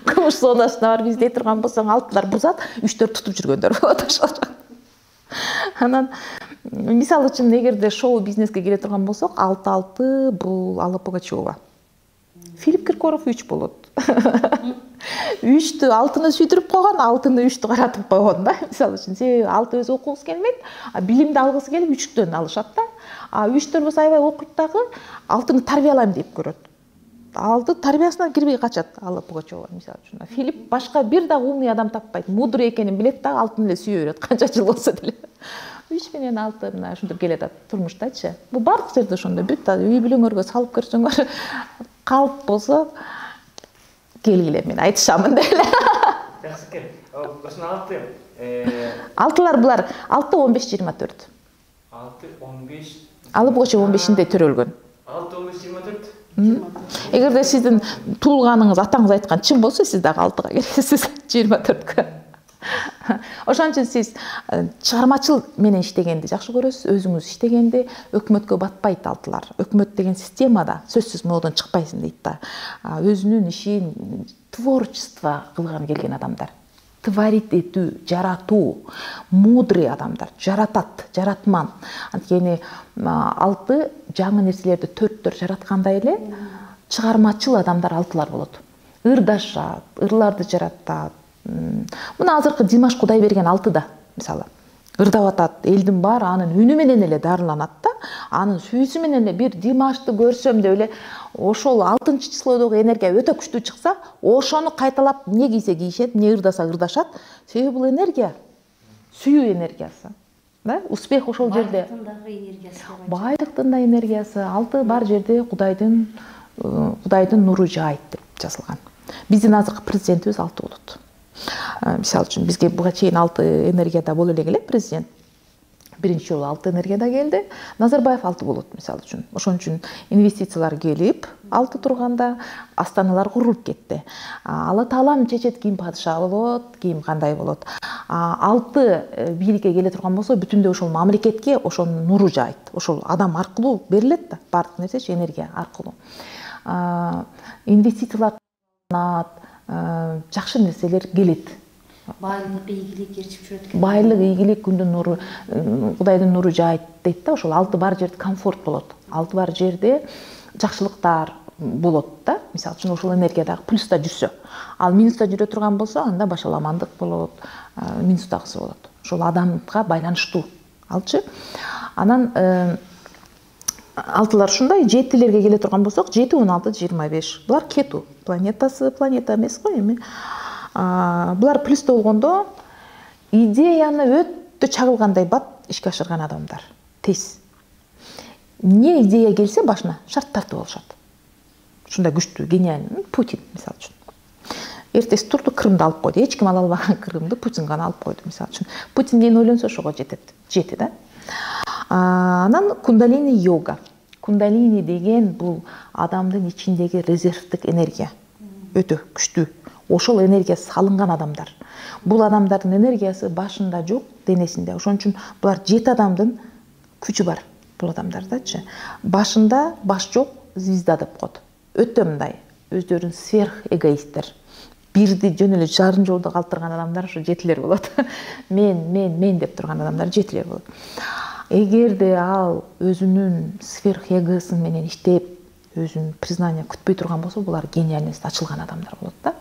кылмыш зонасына барып издей турган болсоң, алтылар бузат, 3төр тутуп жүргөндөр болот ошол. Анан мисалы үчүн эгерде шоу бизнеске келе турган болсок, 6-6 бул Алла Пугачева. Филипп Киркоров 3 болот. 3тү 6-ны сүйдүрүп койгон, 6-ны 3тү каратып койгон да. Мисалы үчүн, себеби 6 өзү окугусу келбейт, билимди алгысы келип 3төн алышат да. 3төр болсо аябай окуйт дагы, 6-ны тарбиялайм деп көрөт. 6 тарбиясынан кирбей качат Алла Пугачева мисалы үчүн. Филипп башка бир дагы умный адам таппайт. Мудрый экенин билет дагы 6-ны эле сүйө берет, канча жыл болсо деле. 3 менен 6 мына ушинтип келет турмуштачы. Бул бардык жерде ошондой. Бүт үй бүлөңөргө салып көрсөңөр, калп болсо келгиле, мен айтышамын деле. Жакшы экен. Ошону 6-лар булар 6-15-24. 6-15. Алла Пугачева 15-нде төрөлгөн. 6-15-24. Эгерде сиздин туулганыңыз, атаңыз айткан чын болсо, сиз дагы 6-га келесиз, 24-кө. Ошон үчүн сиз чыгармачыл менен иштегенди жакшы көрөсүз, өзүңүз иштегенди, өкмөткө батпайт алтылар. Өкмөт деген системада сөзсүз модон чыкпайсың дейт да. Өзүнүн ишин творчество кылган келген адамдар. Творить этүү, жаратуу, мудрый адамдар, жаратат, жаратман. Анткени 6 жаңы нерселерди 4төр жараткандай эле чыгармачыл адамдар 6-лар болот. Ырдашат, ырларды жаратат. Мына азыркы Димаш Кудайберген 6-да, мисалы. Ырдап атат, элдин баары анын үнү менен эле дарыланат да. Анын сүйүүсү менен эле бир Димашты көрсөм деп эле ошол 6-числодогу энергия өтө күчтүү чыкса, ошону кайталап эмне кийсе кийишет, эмне ырдаса ырдашат. Себеби бул энергия, сүйүү энергиясы. Да? Успех ошол жерде. Байлыктын да энергиясы, 6 бар жерде Кудайдын нуру жаайт деп жазылган. Биздин азыркы президентибиз 6 болот. Мисалы үчүн бизге буга чейин 6 энергияда боло элек эле президент. Биринчи жолу 6 энергияда келди. Назарбаев 6 болот мисалы үчүн. Ошон үчүн инвестициялар келип 6 турганда астаналар курулуп кетти. Алла таалам чечет ким падыша болот, ким кандай болот. 6 бийликке келе турган болсо бүтүндөй ошол мамлекетке ошонун нуру жайт. Ошол адам аркылуу берилет да, баардык нерсечи энергия аркылуу. Инвестициялар жакшы нерселер келет. Байлык, ийгилик ээрчип жүрөт экен. Байлык, ийгилик, күндүн нуру, Кудайдын нуру жайт дейт да, ошол 6 бар жерде комфорт болот. 6 бар жерде жакшылыктар болот да. Мисалы үчүн ошол энергиядагы плюста жүрсө. Ал минуста жүрө турган болсо, анда башаламандык болот, минустагысы болот. Ошол адамга байланыштуу. Алчы. Анан 6-лар ушундай, 7-лерге келе турган болсок, 7, 16, 25. Булар кету планетасы, планета эмес го эми. Булар плюста болгондо идеяны өтө чагылгандай бат ишке ашырган адамдар. Тез. Не идея келсе башына шарт тартып алышат. Ушундай күчтүү, гениальный Путин мисалы үчүн. Эртеси турду Крымды алып койду. Эч ким ала албаган Крымды Путин гана алып койду мисалы үчүн. Путин эмнени ойлонсо ошого жетет. Жети да. Анан кундалини йога. Кундалини деген бул адамдын ичиндеги резервдик энергия. Өтө күчтүү. Ошол энергия салынган адамдар. Бул адамдардын энергиясы башында жок, денесинде. Ошон үчүн булар 7 адамдын күчү бар. Бул адамдардачы. Башында баш жок, звезда деп коет. Өтө мындай өздөрүн сверх эгоисттер. Бирди жөн эле жарым жолдо калтырган адамдар ошо 7-лер болот. Мен деп турган адамдар 7-лер болот. Эгерде ал өзүнүн сверх эгосын менен иштеп, өзүнүн признание күтпөй турган болсо, булар гениальность ачылган адамдар болот да.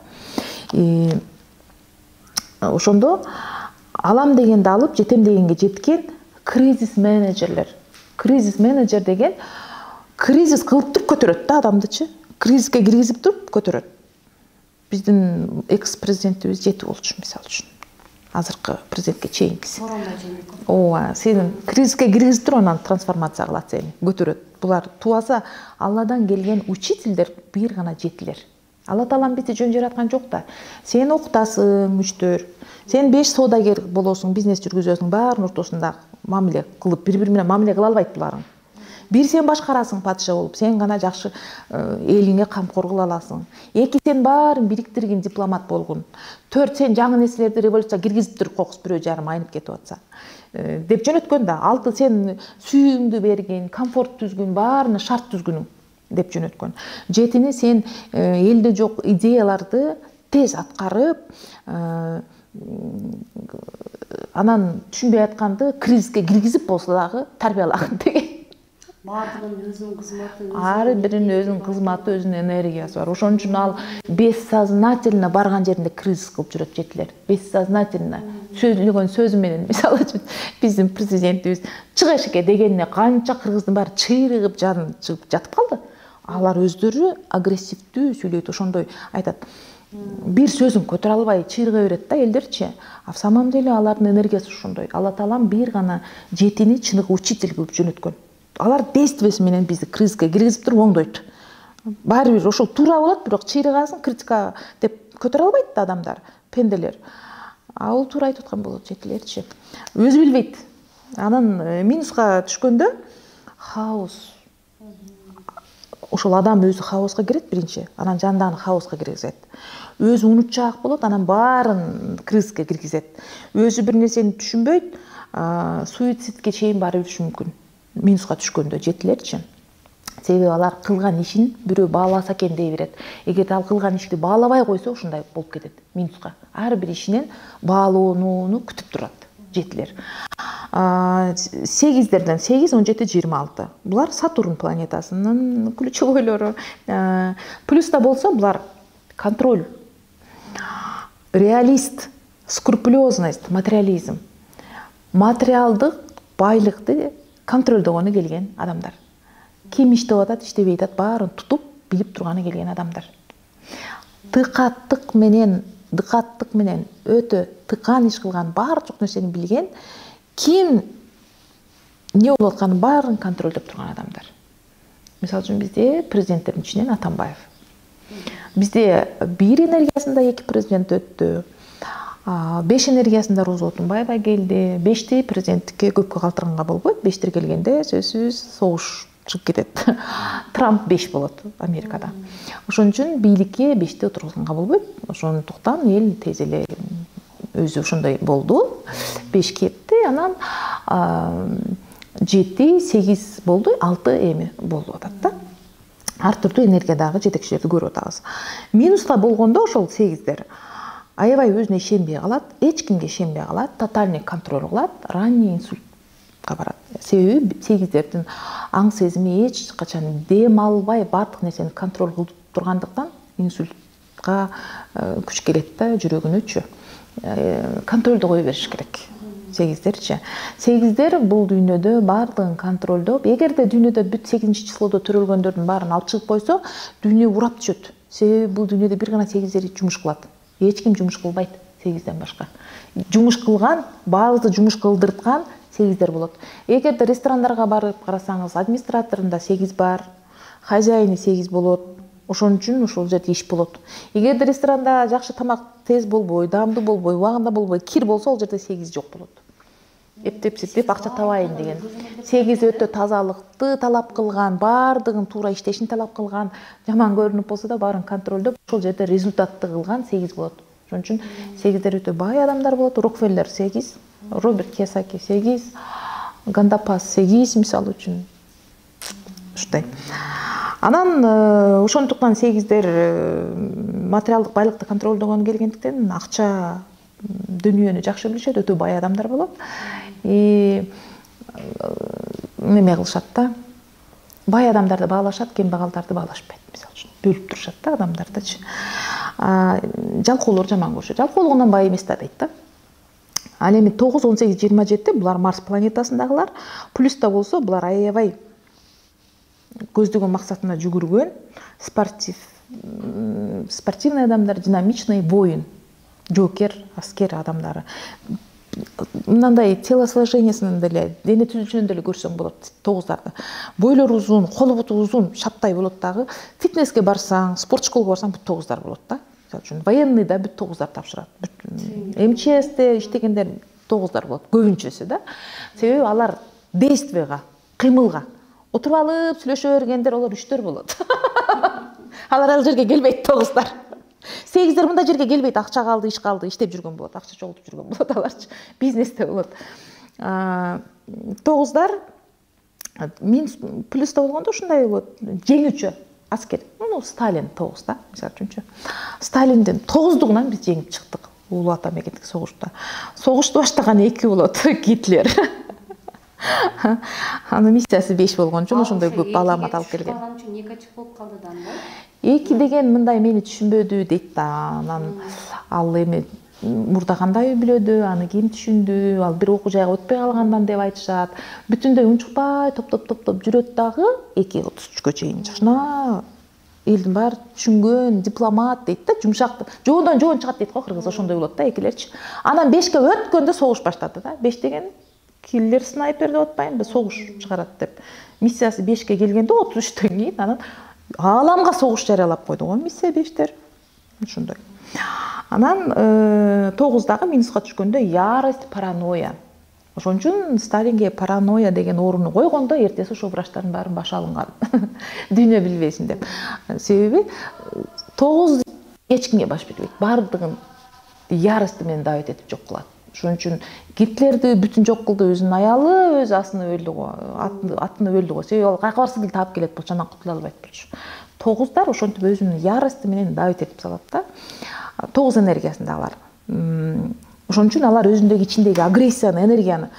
Ошондо алам дегенди алып, жетем дегенге жеткен кризис менеджерлер. Кризис менеджер деген кризис кылып туруп көтөрөт да адамдычы. Кризиске киргизип туруп көтөрөт. Биздин экс-президентибиз 7 болчу мисалы үчүн. Азыркы президентке чейинкиси. Сооронбай Жээнбеков. Ооба, сенин кризиске киргизип туруп анан трансформация кылат сени, көтөрөт. Булар туаса Алладан келген учительдер бир гана 7-лер. Алла таалам бизди жөн жараткан жок да. Сен окутасың, үчтөр. Сен 5 соодагер болосуң, бизнес жүргүзөсүң, баардын ортосунда мамиле кылып, бири-бири менен мамиле кыла албайт буларың. Бир сен башкарасың падыша болуп, сен гана жакшы элиңе камкор кыла аласың. 2 сен баарын бириктирген дипломат болгун. 4 сен жаңы нерселерди революция киргизип туруп кокус бирөө жарым айнып кетип атса. Деп жөнөткөн да. 6 сен сүйүүңдү берген, комфорт түзгүн, баарына шарт түзгүнүң деп жөнөткөн. 7-ни сен элде жок идеяларды тез аткарып, анан түшүнбөй атканды кризиске киргизип болсо дагы тарбиялаган деген. Баардыгынын өзүнүн кызматы, ар биринин өзүнүн кызматы, өзүнүн энергиясы бар. Ошон үчүн ал бессознательно барган жеринде кризис кылып жүрөт 7-лер. Бессознательно сөйлөгөн сөзү менен, мисалы үчүн биздин президентибиз чыга эшикке дегенине канча кыргыздын баары чыйрыгып жаны чыгып жатып калды. Алар өздөрү агрессивдүү сүйлөйт, ошондой айтат. Бир сөзүн көтөрө албай чыйрыга берет да элдерчи. А в самом деле алардын энергиясы ошондой. Алла таалам бир гана 7-ни чыныгы учитель кылып жөнөткөн. Алар действиясы менен бизди кризиске киргизип туруп оңдойт. Баары бир ошол туура болот, бирок чыйрыгасын критика деп көтөрө албайт да адамдар, пенделер. А ол туура айтып аткан болот 7-лерчи. Өзү билбейт. Анан минуска түшкөндө хаос. Ошол адам өзү хаоска кирет биринчи, анан жандагы хаоска киргизет. Өзү унутчаак болот, анан баарын кризиске киргизет. Өзү бир нерсени түшүнбөйт, суицидке чейин барып жүрүшү мүмкүн. Минуска түшкөндө 7-лерчи. Себеби алар кылган ишин бирөө бааласа экен дей берет. Эгерде ал кылган ишти баалабай койсо ушундай болуп кетет минуска. Ар бир ишинен баалоону күтүп турат 7-лер. 8-дерден 8, 17, 26. Булар Сатурн планетасынын ключевойлору. Плюста болсо булар контроль, реалист, скрупулезность, материализм. Материалдык байлыкты контролдогону келген адамдар. Ким иштеп атат, иштебей атат, баарын тутуп, билип турганы келген адамдар. Дыкаттык менен өтө тыкан иш кылган, баардык нерсени билген, ким не болуп атканын баарын контролдоп турган адамдар. Мисалы үчүн бизде президенттердин ичинен Атамбаев. Бизде бир энергиясында 2 президент өттү. 5 энергиясын да Роза Отунбаева келди. 5ти президенттикке көпкө калтырганга болбойт. 5тер келгенде сөзсүз согуш чыгып кетет. Трамп 5 болот Америкада. Ошон үчүн бийликке 5ти отургузганга болбойт. Ошондуктан эл тез эле өзү ошондой болду. 5 кетти, анан 7, 8 болду, 6 эми болуп атат да. Ар түрдүү энергиядагы жетекчилерди көрүп атабыз. Минуста болгондо ошол 8дер аябай өзүнө ишенбей калат, эч кимге ишенбей калат, тотальный контроль кылат, ранний инсультка барат. Себеби 8дердин аң сезими эч качан дем албай бардык нерсени контроль кылып тургандыктан инсультка күч келет да, жүрөгүнөчү. Контролду кое бериш керек. 8дерчи. 8дер бул дүйнөдө бардыгын контролдоп, эгерде дүйнөдө бүт 8-числодо төрөлгөндөрдүн баарын алып чыгып койсо, дүйнө урап түшөт. Себеби бул дүйнөдө бир гана 8дер жумуш кылат. Эч ким жумуш кылбайт 8ден башка. Жумуш кылган, баарыбызды жумуш кылдырткан 8дер болот. Эгерде ресторандарга барып карасаңыз, администраторунда 8 бар, хозяйны 8 болот. Ошон үчүн ошол жерде иш болот. Эгерде ресторанда жакшы тамак тез болбой, даамдуу болбой, убагында болбой, кир болсо, ол жерде 8 жок болот. Эптеп акча табайын деген. 8 өтө тазалыкты талап кылган, бардыгын туура иштешин талап кылган, жаман көрүнүп болсо да баарын контролдоп, ошол жерде результатты кылган 8 болот. Ошон үчүн 8дер өтө бай адамдар болот. Рокфеллер 8, Роберт Кийосаки 8, Гандапас 8 мисалы үчүн. Ушундай. Анан ошондуктан 8дер материалдык байлыкты контролдогон келгендиктен акча дүйнөнү жакшы билишет, өтө бай адамдар болот. Неме кылышат да. Бай адамдарды баалашат, кембагалдарды баалашпайт, мисалы үчүн. Бөлүп турушат да адамдардычы. Жалкоолор жаман көрүшөт. Жалкоолугунан бай эмес да дейт да. Ал эми 9, 18, 27 булар Марс планетасындагылар. Плюста болсо булар аябай көздөгөн максатына жүгүргөн, спортивный адамдар, динамичный, воин, жокер, аскер адамдары. Мындай телосложениясын деле, дене түзүлүшүнөн деле көрсөң болот 9дарды. Бойлору узун, колу буту узун, шаптай болот дагы. Фитнеске барсаң, спорт школго барсаң, бүт 9дар болот да. Мисалы үчүн военный да бүт 9дар тапшырат. МЧСте иштегендер 9дар болот, көбүнчөсү да. Себеби алар действияга, кыймылга отуруп алып сүйлөшө бергендер олар 3төр болот. Алар ал жерге келбейт 9дар. 8дер мындай жерге келбейт, акча калды, иштеп жүргөн болот, акча чогултуп жүргөн болот аларчы. Бизнесте болот. 9дар минус плюста болгондо ушундай болот. Жеңүүчү аскер. Сталин 9 да, мисалы үчүнчү. Сталиндин 9дугунан биз жеңип чыктык Улуу Ата мекендик согушта. Согушту баштаган 2 болот, Гитлер. Анын миссиясы 5 болгон үчүн ошондой көп алаамат алып келген. 2 качып болуп калды да. 2 деген мындай мени түшүнбөдү дейт да. Анан ал эми мурда кандай билөдү, аны ким түшүндү, ал бир окуу жайга өтпөй калгандан деп айтышат. Бүтүндөй унчукпай топтоп жүрөт дагы 2:33 чейин. Жашына элдин баары түшүнгөн дипломат дейт да, жумшак. Жоодон жоон чыгат дейт го кыргыз, ошондой болот да экилерчи. Анан 5ке өткөндө согуш баштады да. 5 деген киллер снайпер деп атпайынбы, согуш чыгарат деп. Миссиясы 5ке келгенде 33төн кийин анан ааламга согуш жарыялап койду го миссия 5тер. Ошондой. Анан 9дагы минуска түшкөндө ярость, паранойя. Ошон үчүн Сталинге паранойя деген орунду койгондо эртеси ошол врачтардын баарын башы алынган. Дүйнө билбесин деп. Себеби 9 эч кимге баш бербейт. Бардыгын ярости менен давить этип жок кылат. Ошон үчүн Гитлерди бүтүн жок кылды, өзүнүн аялы, өз асыны өлдү го, атыны өлдү го. Себеби ал кайкыбарсыз эле таап келет болчу, анан кутула албайт болчу. 9дар ошентип өзүнүн ярости менен давить этип салат да. 9 энергиясындагылар. Ошон үчүн алар өзүндөгү ичиндеги агрессияны, энергияны,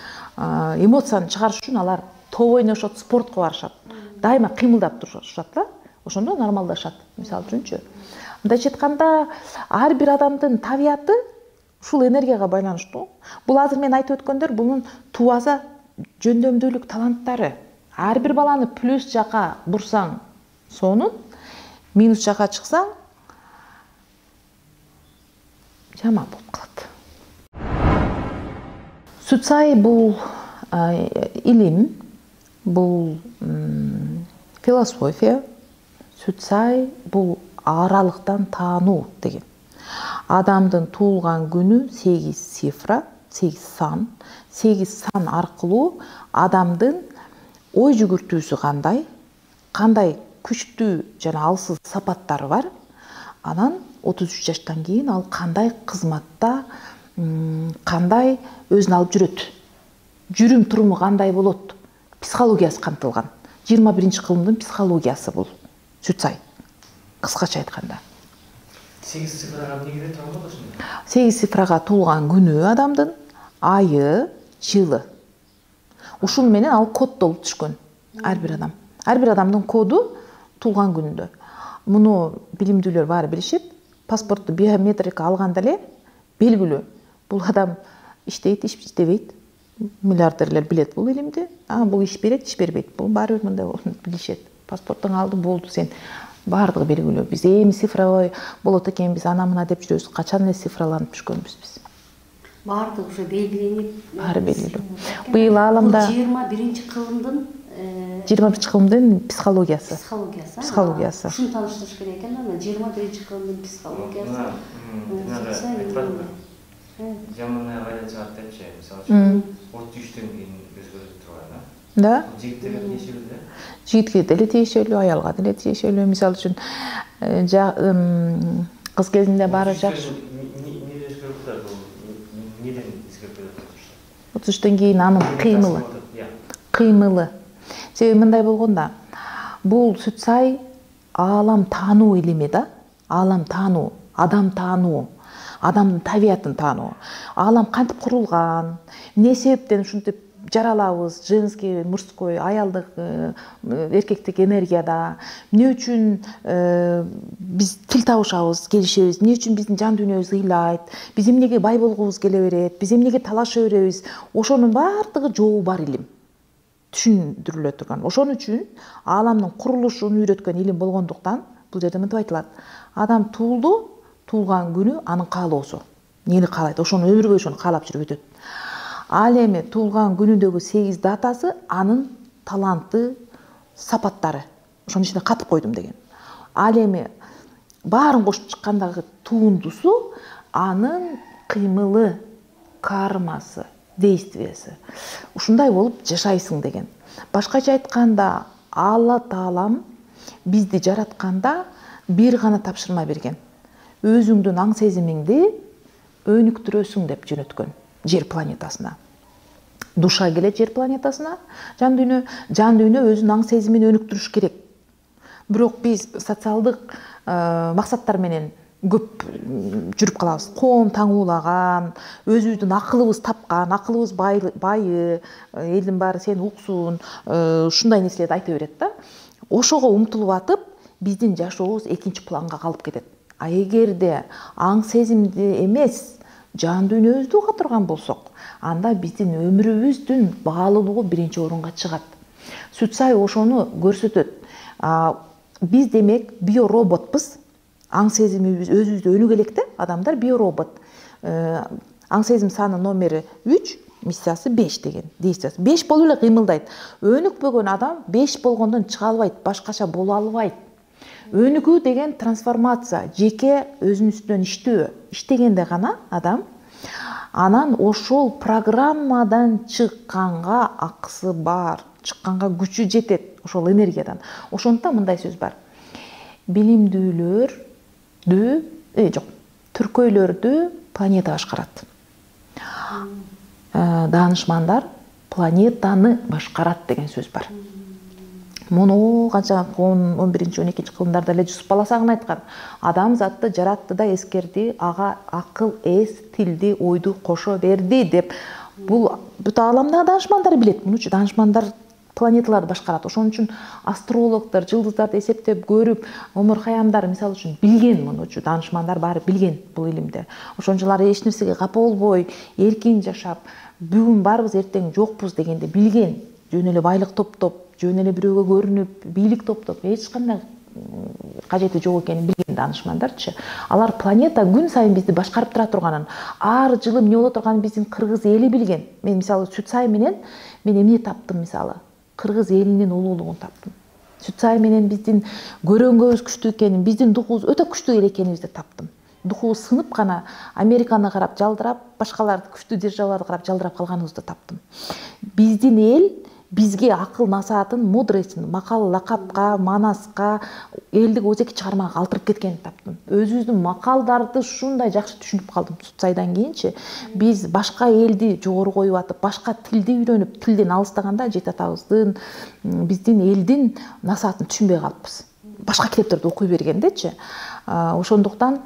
эмоцияны чыгарыш үчүн алар топ ойношот, спортко барышат. Дайыма кыймылдап турушат да. Ошондо нормалдашат. Мисалы үчүнчү. Мындайча айтканда, ар бир адамдын табияты ушул энергияга байланыштуу. Бул азыр мен айтып өткөндөр бунун туаза жөндөмдүүлүк таланттары. Ар бир баланы плюс жака бурсаң сонун, минус жака чыксаң жаман болуп калат. Суцай бул илим, бул философия. Суцай бул аралыктан таануу деген. Адамдын туулган күнү 8 цифра, 8 сан. 8 сан аркылуу адамдын ой жүгүртүүсү кандай күчтүү жана алсыз сапаттары бар. Анан 33 жаштан кийин ал кандай кызматта, кандай өзүн алып жүрөт, жүрүм туруму кандай болот, психологиясы камтылган. 21-кылымдын психологиясы бул Сүтсай, кыскача айтканда. 8 цифрага эмне кирет болот ошондо? 8 цифрага туулган күнү адамдын, айы, жылы. Ушун менен ал коддолуп түшкөн ар бир адамдын коду туулган күнүндө. Муну билимдүүлөр баары билишет. Паспортту биометрика алганда эле белгилүү. Бул адам иштейт, иштебейт. Миллиардерлер билет бул илимди. Бул иш берет, иш бербейт. Бул баары бир мындай билишет. Паспорттун алды болду, сен баардыгы белгилүү. Биз эми цифровой болот экен, биз ана-мына деп жүрөбүз. Качан эле цифраланып түшкөнбүз биз. Баардыгы уже белгиленип. Баары белгилүү. Быйыл ааламда 21-кылымдын 21-кылымдын психологиясы. Психологиясы. Ушуну тааныштырыш керек экен, ана 21-кылымдын психологиясы. Жаман айга чыгат депчи, мисалы 33-төн кийин өзгөрүп турган, да? Жигиттерге тиешелүү да? Жигитке деле тиешелүү, аялга деле тиешелүү. Мисалы үчүн кыз кезинде баары жакшы. Эмне өзгөрүп турат бул? Неден өзгөрүп турат? 33-төн кийин анын кыймылы. Себеби мындай болгонда, бул Сүтсай аалам таануу илими да, аалам таануу, адам таануу, адамдын табиятын таануу. Аалам кантип курулган, эмне себептен ушинтип жаралабыз, женский, мужской, аялдык, эркектик энергияда, эмне үчүн биз тил табышабыз, келишебиз, эмне үчүн биздин жан дүйнөбүз ыйлайт, биз эмнеге бай болгубуз келе берет, биз эмнеге талаша беребиз, ошонун баардыгы жообу бар илим. Түшүндүрүлө турган. Ошон үчүн ааламдын курулушун үйрөткөн илим болгондуктан бул жерде мынтип айтылат. Адам туулду, туулган күнү анын каалоосу. Эмнени каалайт, ошону өмүргө ошону каалап жүрүп өтөт. Ал эми туулган күнүндөгү 8 датасы анын таланты, сапаттары. Ошонун ичине катып койдум деген. Ал эми баарын кошуп чыккандагы туундусу анын кыймылы, кармасы, действиясы. Ушундай болуп жашайсың деген. Башкача айтканда, Алла Таалам бизди жаратканда бир гана тапшырма берген. Өзүңдүн аң сезимиңди өнүктүрөсүң деп жөнөткөн жер планетасына. Душа келет жер планетасына, жан дүйнө өзүнүн аң сезимин өнүктүрүш керек. Бирок биз социалдык максаттар менен көп жүрүп калабыз. Коом таңуулаган, өзүбүздүн акылыбыз тапкан, акылыбыз байы, элдин баары сени уксун, ушундай нерселерди айта берет да. Ошого умтулуп атып, биздин жашообуз экинчи планга калып кетет. А эгерде аң сезимди эмес, жан дүйнөбүздү уга турган болсок, анда биздин өмүрүбүздүн баалуулугу биринчи орунга чыгат. Сүтсай ошону көрсөтөт. Биз демек биороботпуз. Аң сезимибиз өзүбүздө өнүгө элек да, адамдар биоробот. Аң сезим саны номери 3, миссиясы 5 деген, действиясы. 5 болуп эле кыймылдайт. Өнүкпөгөн адам 5 болгондон чыга албайт, башкача боло албайт. Өнүгүү деген трансформация, жеке өзүнүн үстүнөн иштөө. Иштегенде гана адам анан ошол программадан чыкканга акысы бар, чыкканга күчү жетет, ошол энергиядан. Ошондуктан мындай сөз бар. Түркөйлөрдү планета башкарат. Даанышмандар планетаны башкарат деген сөз бар. Муну канча 11-12 кылымдарда эле Жусуп Баласагын айткан. Адам затты жаратты да эскерди, ага акыл, эс, тилди, ойду кошо берди деп. Бул бүт ааламдагы даанышмандар билет. Муну даанышмандар планеталарды башкарат. Ошон үчүн астрологдор жылдыздарды эсептеп көрүп, Омар Хаямдар мисалы үчүн билген мунучу, даанышмандар баары билген бул илимде. Ошон үчүн алар эч нерсеге капа болбой, эркин жашап, бүгүн барбыз, эртең жокпуз дегенде билген. Жөн эле байлык топтоп, жөн эле бирөөгө көрүнүп, бийлик топтоп, эч кандай кажети жок экенин билген даанышмандарчы. Алар планета күн сайын бизди башкарып тура турганын, ар жылы эмне боло турганын биздин кыргыз эли билген. Мен мисалы Сүтсай менен мен эмне таптым мисалы? Кыргыз элинин улуулугун таптым. Сүтсай менен биздин көрөнгөбүз күчтүү экенин, биздин духубуз өтө күчтүү эле экенибизди таптым. духубуз сынып гана Американы карап жалдырап, башкаларды күчтүү державаларды карап жалдырап калганыбызды таптым. Биздин эл бизге акыл насаатын, мудросын макал лакапка, манаска, элдик өзеки чыгармага калтырып кеткенин таптым. Өзүбүздүн макалдарды ушундай жакшы түшүнүп калдым. Сутсайдан кийинчи биз башка элди жогору коюп атып, башка тилди үйрөнүп, тилден алыстаганда жет атабыздын, биздин элдин насаатын түшүнбөй калыппыз. Башка китептерди окуй бергендечи. Ошондуктан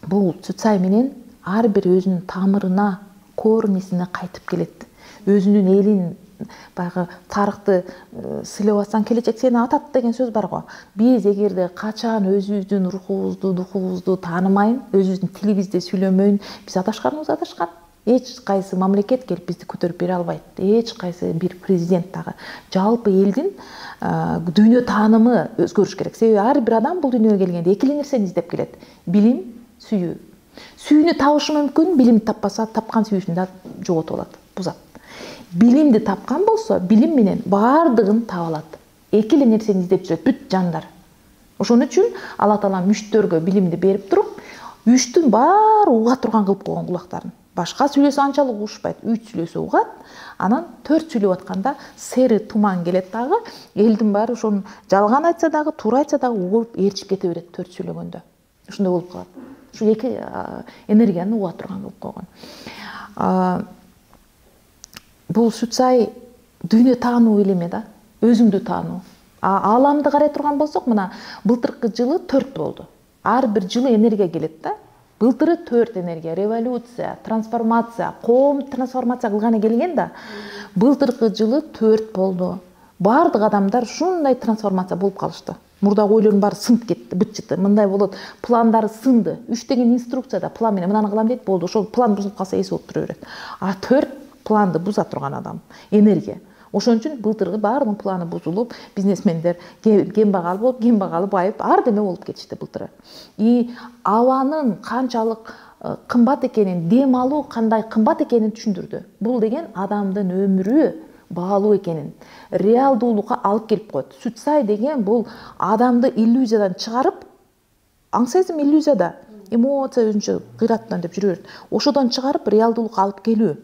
бул Цуцай менен ар бир өзүнүн тамырына, корнисине кайтып келет. Өзүнүн элин баягы тарыхты сыйлап атсаң келечек сени атат деген сөз бар го. Биз эгерде качан өзүбүздүн рухубузду, духубузду таанымайын, өзүбүздүн тилибизде сүйлөмөйүн, биз адашканыбыз адашкан. Эч кайсы мамлекет келип бизди көтөрүп бере албайт. Эч кайсы бир президент дагы. Жалпы элдин дүйнө таанымы өзгөрүш керек. Себеби ар бир адам бул дүйнөгө келгенде эки эле нерсени издеп келет. Билим, сүйүү. Сүйүүнү табышы мүмкүн, билимди таппаса, тапкан сүйүүсүн да жоготуп алат, бузат. Билимди тапкан болсо, билим менен баардыгын таба алат. Эки эле нерсени издеп жүрөт бүт жандар. Ошон үчүн Алла Таала мүштөргө билимди берип туруп, үчтүн баары уга турган кылып койгон кулактарын. Башка сүйлөсө анчалык угушпайт. 3 сүйлөсө угат. Анан 4 сүйлөп атканда сери туман келет дагы, элдин баары ошону жалган айтса дагы, туура айтса дагы угуп ээрчип кете берет 4 сүйлөгөндө. Ушундай болуп калат. Ушу эки энергияны уга турган кылып койгон. Бул Цуцай дүйнө таануу илими да, өзүңдү таануу. Ааламды карай турган болсок, мына былтыркы жылы 4 болду. Ар бир жылы энергия келет да. Былтыры 4 энергия, революция, трансформация, коом трансформация кылганы келген да. Былтыркы жылы 4 болду. Бардык адамдар ушундай трансформация болуп калышты. Мурдагы ойлордун баары сынып кетти, бытчыты. Мындай болот, пландары сынды. 3 деген инструкцияда план менен мынаны кылам дейт, болду. Ошол план бузулуп калса эси болуп тура берет. 4 планды буза турган адам, энергия. Ошон үчүн былтыркы баардык планы бузулуп, бизнесмендер кембагал болуп, кембагалы байып, ар деме болуп кетишти былтыры. И абанын канчалык кымбат экенин, дем алуу кандай кымбат экенин түшүндүрдү. Бул деген адамдын өмүрү баалуу экенин, реалдуулукка алып келип коет. Цуцай деген бул адамды иллюзиядан чыгарып, аңсайсың иллюзияда, эмоция өзүнчө кыйраттан деп жүрө берет. Ошодон чыгарып реалдуулукка алып келүү.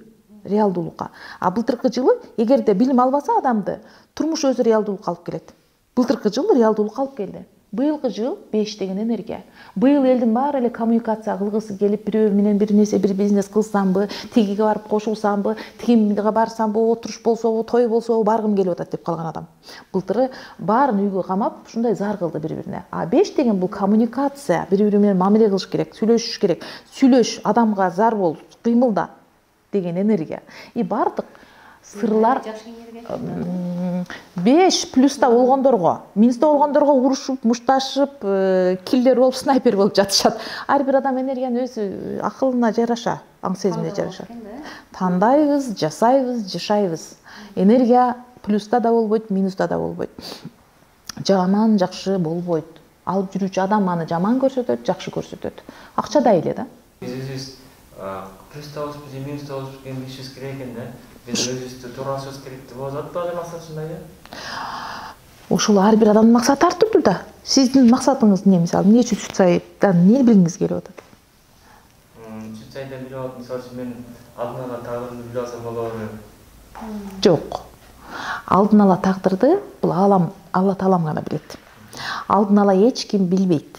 Реалдуулукка. Былтыркы жылы эгерде билим албаса адамды, турмуш өзү реалдуулукка алып келет. Былтыркы жыл реалдуулукка алып келди. Быйылкы жыл 5 деген энергия. Быйыл элдин баары эле коммуникация кылгысы келип, бирөө менен бир нерсе, бир бизнес кылсамбы, тигиге барып кошулсамбы, тигимге барсамбы, отуруш болсобу, той болсобу, баргым келип атат деп калган адам. Былтыры баарын үйгө камап, ушундай зар кылды бири-бирине. 5 деген бул коммуникация, бири-бири менен мамиле кылыш керек, сүйлөшүш керек. Сүйлөш, адамга зар бол, кыймылда деген энергия. И бардык сырлар 5 плюста болгондорго, минуста болгондорго урушуп, мушташып, киллер болуп, снайпер болуп жатышат. Ар бир адам энергияны өзү акылына жараша, аң сезимине жараша тандайбыз, жасайбыз, жашайбыз. Энергия плюста да болбойт, минуста да болбойт. Жаман, жакшы болбойт. Алып жүрүүчү адам аны жаман көрсөтөт, жакшы көрсөтөт. Акчадай эле да. Биз плюста болуп, минуста болуп келишибиз керек экен да. Биз өзүбүздү тууралашыбыз керек деп болот да, максат ушундай да. Ошол ар бир адамдын максаты ар түрдүү да. Сиздин максатыңыз эмне, мисалы, эмне үчүн Цуцайдан эмне билгиңиз келип атат? Цуцайдан билип атам, мисалы үчүн мен алдын ала тагдырымды билип алсам болобу? Жок. Алдын ала тагдырды бул Алла Таалам гана билет. Алдын ала эч ким билбейт.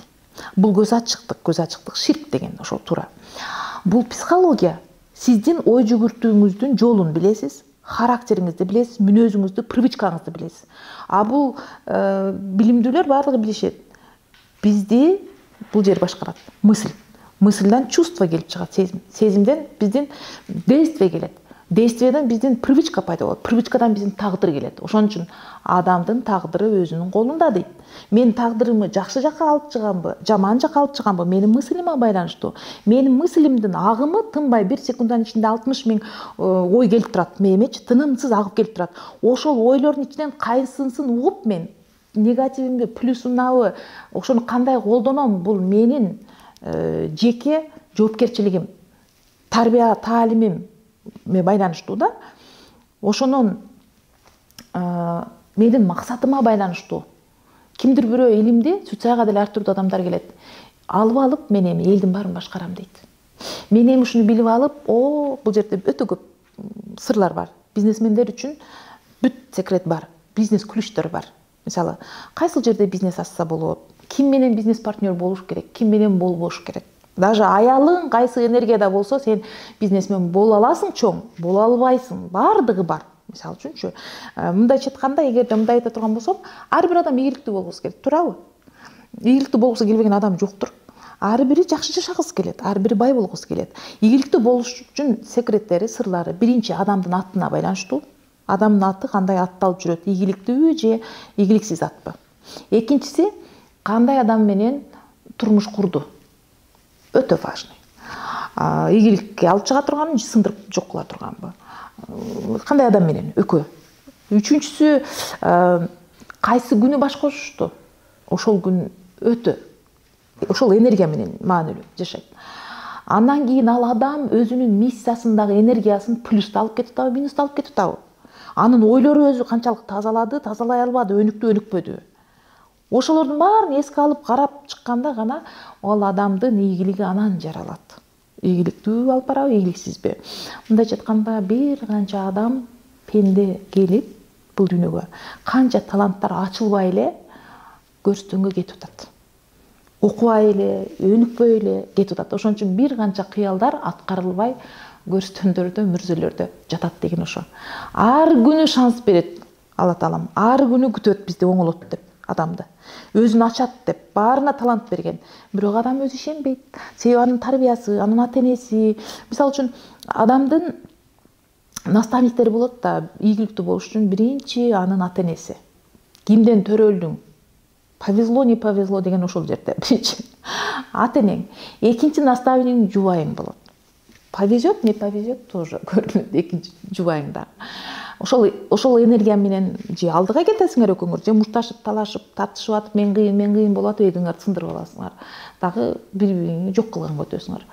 Бул көз ачыктык ширк деген ошол туура. Бул психология. Сиздин ой жүгүртүүңүздүн жолун билесиз, характериңизди билесиз, мүнөзүңүздү, привычкаңызды билесиз. Бул билимдүүлөр баардыгы билишет. Бизди бул жер башкарат. Мысльдан чувство келип чыгат, сезим. Сезимден биздин действие келет. Действиеден биздин привычка пайда болот. Привычкадан биздин тагдыр келет. Ошон үчүн адамдын тагдыры өзүнүн колунда дейт. Мен тагдырымы жакшы жакка алып чыганбы, жаман жакка алып чыганбы, менин мыслиме байланыштуу. Менин мыслимдин агымы тынбай 1 секунддун ичинде 60 000 ой келип турат мээмечи, тынымсыз агып келип турат. Ошол ойлордун ичинен кайсынысын угуп мен негативимби, плюсунабы, ошону кандай колдоном, бул менин жеке жоопкерчилигим, тарбия таалимим байланыштуу да. Ошонун менин максатыма байланыштуу. Кимдир бирөө илимди, Цуцайга деле ар түрдүү адамдар келет. алып мен эми элдин баарын башкарам дейт. Мен эми ушуну билип алып, бул жерде өтө көп сырлар бар. Бизнесмендер үчүн бүт секрет бар. Бизнес ключтөр бар. Мисалы, кайсыл жерде бизнес ачса болот, ким менен бизнес партнер болуш керек, ким менен болбош керек. Даже аялың кайсы энергияда болсо, сен бизнесмен боло аласың чоң, боло албайсың. Бардыгы бар. Мисалы үчүнчү, мындайча айтканда, эгерде мындай айта турган болсом, ар бир адам ийгиликтүү болгусу келет, туурабы? Ийгиликтүү болгусу келбеген адам жоктур. Ар бири жакшы жашагысы келет, ар бири бай болгусу келет. Ийгиликтүү болуш үчүн секреттери, сырлары биринчи адамдын атына байланыштуу. Адамдын аты кандай атталып жүрөт, ийгиликтүүбү же ийгиликсиз атпы? Экинчиси, кандай адам менен турмуш курду? Өтө важный. Ийгиликке алып чыга турганбы, сындырып жок кыла турганбы? Кандай адам менен? Экөө. Үчүнчүсү, кайсы күнү баш кошушту? Ошол күн өтө, ошол энергия менен маанилүү жашайт. Андан кийин ал адам өзүнүн миссиясындагы энергиясын плюсту алып кетип атабы, минусту алып кетип атабы? Анын ойлору өзү канчалык тазалады, тазалай албады, өнүктү, өнүкпөдү? Ошолордун баарын эске алып карап чыкканда гана ал адамдын ийгилиги анан жаралат. Ийгиликтүү алып барабы, ийгиликсизби? Мындайча айтканда, бир канча адам пенде келип бул дүйнөгө канча таланттар ачылбай эле көрстөнгө кетип атат. Окубай эле, өнүкпөй эле кетип атат. Ошон үчүн бир канча кыялдар аткарылбай көрстөндөрдө, мүрзөлөрдө жатат деген ошо. Ар күнү шанс берет Алла Таалам. Ар күнү күтөт бизди, оңолот деп адамды. Өзүн ачат деп, баарына талант берген. Бирок адам өзү ишенбейт. Себеби анын тарбиясы, анын ата-энеси. Мисалы үчүн адамдын наставниктери болот да, ийгиликтүү болуш үчүн биринчи анын ата-энеси. Кимден төрөлдүң? Повезло, не повезло деген ошол жерде. Биринчи ата-энең. Экинчи наставнигиң жубайың болот. Повезет, не повезет тоже көрүнөт экинчи жубайыңда. Ошол энергия менен же алдыга кетесиңер экөөңөр, же мушташып, талашып, тартышып атып, мен кыйын болуп атып, элиңерди сындырып аласыңар. Дагы бири-бириңи жок кылганга өтөсүңөр.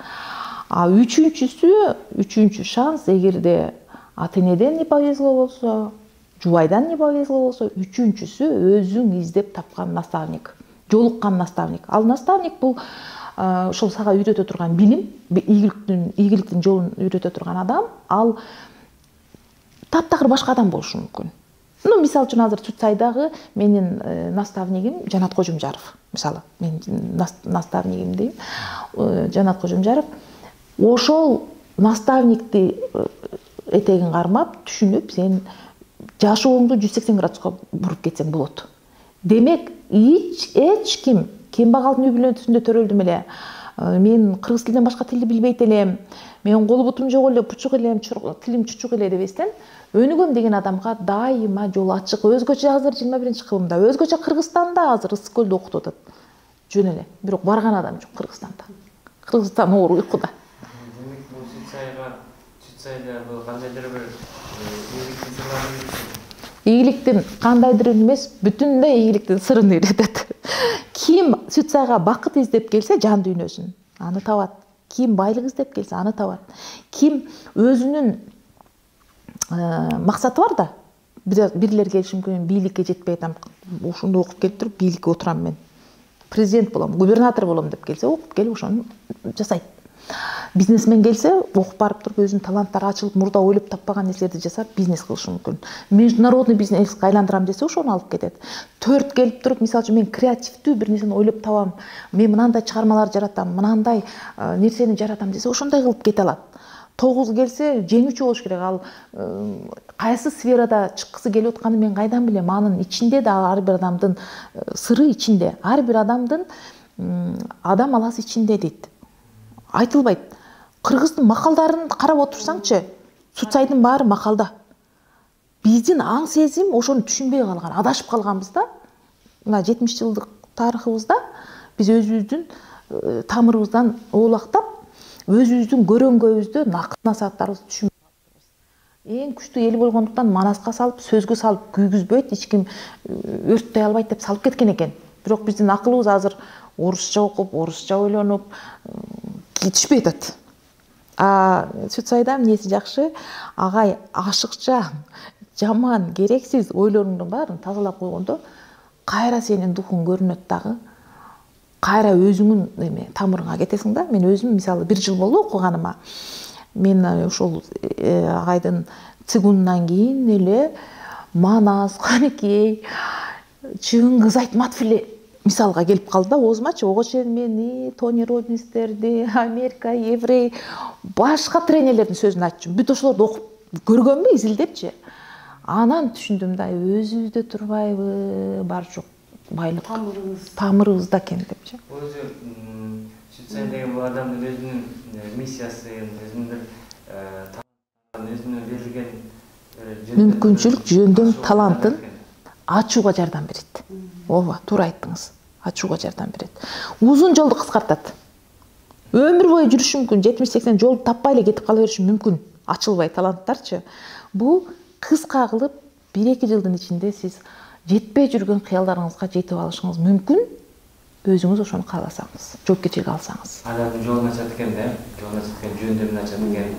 Үчүнчү шанс, эгерде ата-энеден не повезло болсо, жубайдан не повезло болсо, үчүнчүсү өзүң издеп тапкан наставник, жолуккан наставник. Ал наставник бул ошол сага үйрөтө турган билим, ийгиликтин жолун үйрөтө турган адам, ал таптакыр башка адам болушу мүмкүн. Мисалы үчүн азыр Чүтсайдагы менин наставнигим Жанат Кожумжаров. Мисалы, мен наставнигим дейм, Жанат Кожумжаров. Ошол наставникти этегин кармап, түшүнүп, сен жашооңду 180 градуска буруп кетсең болот. Демек, эч ким кембагалдын үй бүлөсүндө төрөлдүм эле, мен кыргыз тилинен башка тилди билбейт элем, мен колу бутум жок эле, пучук элем, тилим чучук эле дебестен, өнүгөм деген адамга дайыма жол ачык. Өзгөчө азыр 21-кылымда, өзгөчө Кыргызстанда азыр Ысык көлдө окутуп атат. Жөн эле. Бирок барган адам жок Кыргызстанда. Кыргызстан оор уйкуда. Демек, бул Чүтсайда бул кандайдыр бир ийгиликтин сырларын үйрөтөт. Ийгиликтин кандайдыр эмес, бүтүндөй ийгиликтин сырын үйрөтөт. Ким Чүтсайга бакыт издеп келсе, жан дүйнөсүн, аны табат. Ким байлык издеп келсе, аны табат. Ким өзүнүн максаты бар да, бирлер келиши мүмкүн, бийликке жетпей атам, ушунду окуп келип туруп, бийликке отурам мен, президент болом, губернатор болом деп келсе, окуп келип ошону жасайт. Бизнесмен келсе, окуп барып туруп, өзүнүн таланттары ачылып, мурда ойлоп таппаган нерселерди жасап, бизнес кылышы мүмкүн. Международный бизнеске айландырам десе, ошону алып кетет. 4 келип туруп, мисалы үчүн мен креативдүү бир нерсени ойлоп табам, мен мынандай чыгармалар жаратам, мынандай нерсени жаратам десе, ошондой кылып кете алат. 9 келсе, жеңүүчү болуш керек. Ал кайсы сферада чыккысы келип атканын мен кайдан билем? Анын ичинде да ар бир адамдын сыры ичинде, ар бир адамдын адам аласы ичинде дейт. Айтылбайт. Кыргыздын макалдарын карап отурсаңчы, Чүтсайдын баары макалда. Биздин аң сезим ошону түшүнбөй калган, адашып калганбыз да. Мына 70 жылдык тарыхыбызда биз өзүбүздүн тамырыбыздан оолактап, өзүбүздүн көрөңгөбүздү, насааттарыбызды түшүнбөй калганбыз. Эң күчтүү эл болгондуктан манаска салып, сөзгө салып күйгүзбөйт, эч ким өрттөй албайт деп салып кеткен экен. Бирок биздин акылыбыз азыр орусча окуп, орусча ойлонуп түшпөй атат. Чүтсайда эмнеси жакшы, агай ашыкча, жаман, керексиз ойлоруңдун баарын тазалап койгондо, кайра сенин духуң көрүнөт дагы. кайра өзүңүн эме тамырыңа кетесиң да. Мен өзүм мисалы 1 жыл болду окуганыма. Мен ошол агайдын цигунунан кийин эле Манас, Канекей, Чыңгыз Айтматов эле мисалга келип калды да оозумачы. Ого чейин мен Тони Роббинстерди, Америка, Еврей, башка тренерлердин сөзүн айтчумун. Бүт ошолорду окуп көргөнмү, изилдепчи. Анан түшүндүм да, өзүбүздө турбайбы, бар жок байлык тамырыбызда экен депчи. Өзү Швейцария деген бул адамдын өзүнүн миссиясын, өзүнүн өзүнүн берилген мүмкүнчүлүк, жөндөм, талантын ачууга жардам берет. Ооба, туура айттыңыз. Ачууга жардам берет. Узун жолду кыскартат. Өмүр бою жүрүшү мүмкүн, 70-80 жолду таппай эле кетип кала бериши мүмкүн. Ачылбай таланттарчы. Бул кыска кылып 1-2 жылдын ичинде сиз жетпей жүргөн кыялдарыңызга жетип алышыңыз мүмкүн. Өзүңүз ошону кааласаңыз, жоопкерчилик алсаңыз. Адамдын жолун ачат экен да, жолун ачат экен, жөндөмүн ачат экен.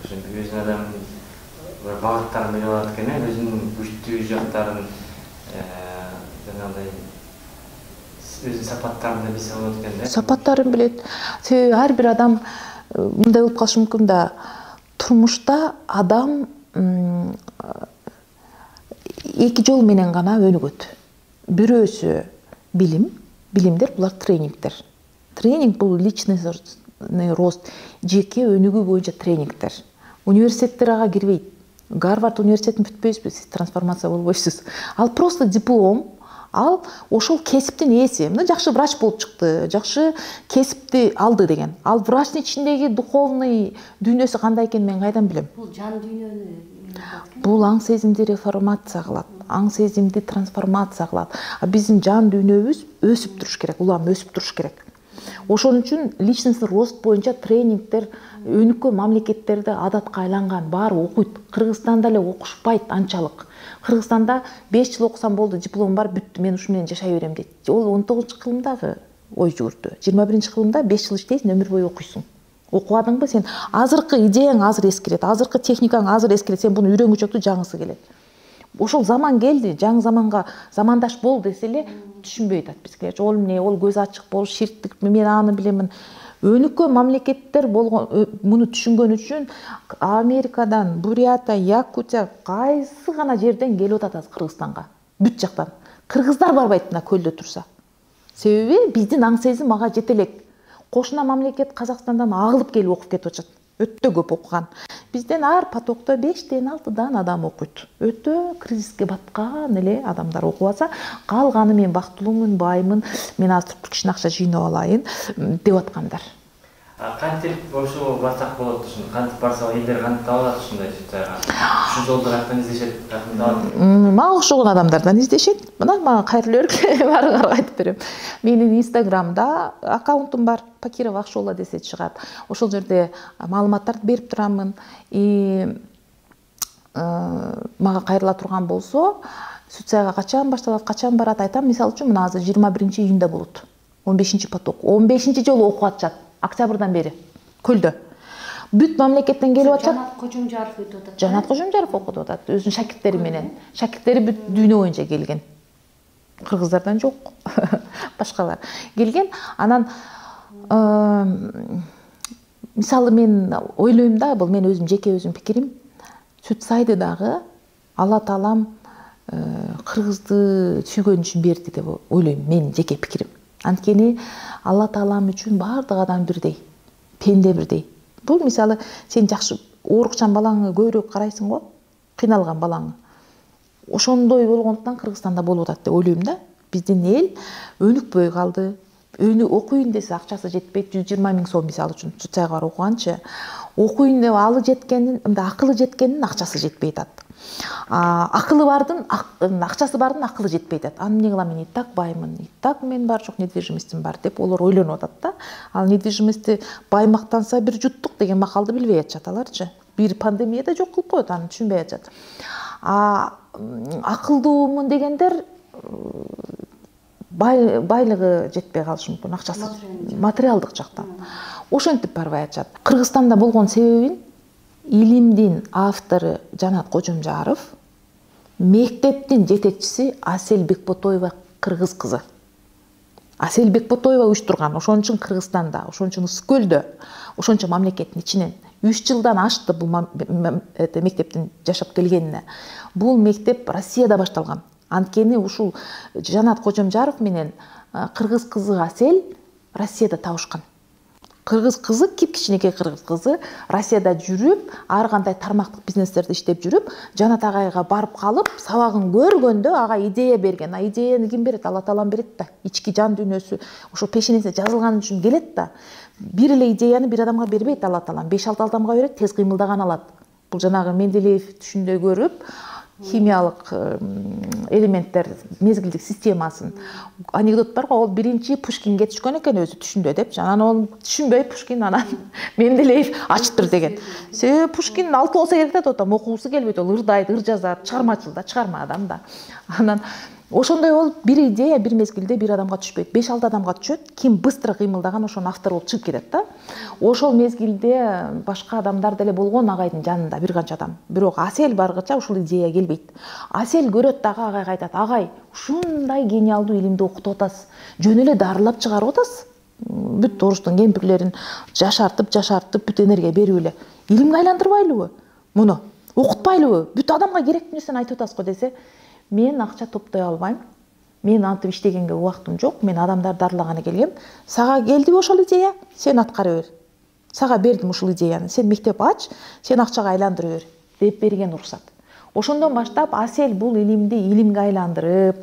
Ошентип өзүнүн адамдын bir багыттарын билип алат экен, өзүнүн күчтүү жактарын, жанагындай өзүнүн сапаттарын да билсе болот экен да. Сапаттарын билет. Себеби ар бир адам мындай болуп калышы мүмкүн да, турмушта адам 2 жол менен гана өнүгөт. Бирөөсү билимдер, булар тренингдер. Тренинг бул личностный рост, жеке өнүгүү боюнча тренингдер. Университеттер ага кирбейт. Гарвард университетин бүтпөйсүз, сиз трансформация болбойсуз. Ал просто диплом, ал ошол кесиптин ээси. Мына жакшы врач болуп чыкты, жакшы кесипти алды деген. Ал врачтын ичиндеги духовный дүйнөсү кандай экенин мен кайдан билем? Бул жан дүйнөнү. Бул аң сезимди реформация кылат, аң сезимди трансформация кылат. Биздин жан дүйнөбүз өсүп туруш керек, улам өсүп туруш керек. Ошон үчүн личностный рост боюнча тренингдер өнүккөн мамлекеттерде адатка айланган, баары окуйт. Кыргызстанда эле окушпайт анчалык. Кыргызстанда 5 жыл окусам болду, дипломум бар, бүттү, мен ушу менен жашай берем дейт. Ол 19-кылымдагы ой жүгүртүү. 21-кылымда 5 жыл иштейсиң, өмүр бою окуйсуң. Окубадыңбы сен? Азыркы идеяң азыр эскирет, азыркы техникаң азыр эскирет, сен буну үйрөнгүчөктү жаңысы келет. Ошол заман келди, жаңы заманга замандаш бол десе эле түшүнбөй атат бизгилер. Ол эмне, ол көз ачык болуш, ширттик, мен аны билемин. Өнүккөн мамлекеттер болгон, муну түшүнгөн үчүн Америкадан, Бурята, Якутия кайсы гана жерден келип атат Кыргызстанга. Бүт жактан. Кыргыздар барбайт мына көлдө турса. Себеби биздин аң сезим ага жете элек. Кошуна мамлекет Казакстандан агылып келип окуп кетип атат. Өтө көп окуган. Бизден ар потокто 5-6 адам окуйт. Өтө кризиске баткан эле адамдар окуп алса, калганы мен бактылуумун, баймын, мен азыр туруп кичине акча жыйнап алайын деп аткандар. Кантип ошо барсак болот ушуну? Кантип барса элдер кантип алат ушундай жыттарга? Ушу жолду каяктан издешет, каяктан алат? Мага окшогон адамдардан издешет. Мына мага кайрылуу берип, баарыңарга айтып берем. Менин Инстаграмда аккаунтум бар, Пакирова Акшола десе чыгат. Ошол жерде маалыматтарды берип турамын. Мага кайрыла турган болсо, Суцаяга качан башталат, качан барат айтам. Мисалы үчүн мына азыр 21-июнда болот. 15-поток. 15-жолу окуп атышат. Октябрдан бери көлдө. Бүт мамлекеттен келип атышат. Жанат Кожомжаров өтүп атат. Жанат Кожомжаров окуп атат. Өзүнүн шакирттери менен. Шакирттери бүт дүйнө боюнча келген. Кыргыздардан жок. Башкалар келген. Анан мисалы мен ойлойм да, бул мен өзүм жеке өзүм пикирим. Сүтсайды дагы Алла Таалам кыргызды сүйгөн үчүн берди деп ойлойм, менин жеке пикирим. Анткени Алла Таалам үчүн баардык адам бирдей, пенде бирдей. Бул мисалы сен жакшы оорукчан балаңы көбүрөөк карайсың го, кыйналган балаңы. Ошондой болгондуктан Кыргызстанда болуп атат деп ойлойм да. Биздин эл өнүкпөй калды. Окуйын десе акчасы жетпейт, 120 000 сом мисалы үчүн Суцаяга барып окуганчы. Окуйын деп алы жеткенин, акылы жеткенин акчасы жетпей атат. Акылы бардын, акчасы бардын акылы жетпей атат. Аны эмне кылам, мен и так баймын, и так мен бар жок недвижимостьм бар деп олар ойлонуп атат да. Ал недвижимостьти баймактанса бир жуттук деген макалды билбей атышат аларчы. Бир пандемияда жок кылып коет, аны түшүнбөй атышат. Акылдуумун дегендер байлыгы жетпей калышы мүмкүн, акчасы материалдык жактан. Ошентип барбай атышат. Кыргызстанда болгон себебин илимдин автору Жанат Кожомжаров, мектептин жетекчиси Асель Бекботоева кыргыз кызы. Асель Бекботоева уюштурган. Ошон үчүн Кыргызстанда, ошон үчүн Ысык көлдө, ошончо мамлекеттин ичинен 3 жылдан ашты бул мектептин жашап келгенине. Бул мектеп Россияда башталган. Анткени ушул Жанат Кожомжаров менен кыргыз кызы Асель Россияда табышкан. Кыргыз кызы, кичинекей кыргыз кызы Россияда жүрүп, ар кандай тармактык бизнестерди иштеп жүрүп, Жанат агайга барып калып, сабагын көргөндө ага идея берген. Идеяны ким берет? Алла Таалам берет да. Ички жан дүйнөсү ошо пешенесине жазылган үчүн келет да. Бир эле идеяны бир адамга бербейт Алла Таалам. 5-6 адамга берет, тез кыймылдаган алат. Бул жанагы Менделеев түшүндө көрүп, химиялык элементтер мезгилдик системасын. Анекдот бар го, ол биринчи Пушкинге түшкөн экен өзү түшүндө деп. Анан ол түшүнбөй Пушкин анан Менделеев ачыптыр деген. Себеби Пушкин 6 болсо керек да, тотом окуусу келбейт, ол ырдайт, ыр жазат, чыгармачыл да, чыгарма адам да. Анан ошондой ол бир идея бир мезгилде бир адамга түшпөйт, 5-6 адамга түшөт. Ким быстро кыймылдаган ошонун автору болуп чыгып кетет да. Ошол мезгилде башка адамдар деле болгон агайдын жанында, бир канча адам. Бирок Асель баргыча ушул идея келбейт. Асель көрөт дагы агайга айтат: "Агай, ушундай гениалдуу илимди окутуп атасыз. Жөн эле дарылап чыгарып атасыз. Бүт оручтун кемпирлерин жашартып, бүт энергия берип эле. Илимге айландырбайлыбы? Муну окутпайлыбы? Бүт адамга керектүү нерсени айтып атасыз го" десе, "Мен акча топтой албайм. Мен антип иштегенге убактым жок. Мен адамдарды дарылаганы келгем. Сага келдиби ошол идея? Сен аткара бер. Сага бердим ушул идеяны. Сен мектеп ач, сен акчага айландыра бер" деп берген уруксат. Ошондон баштап Асель бул илимди илимге айландырып,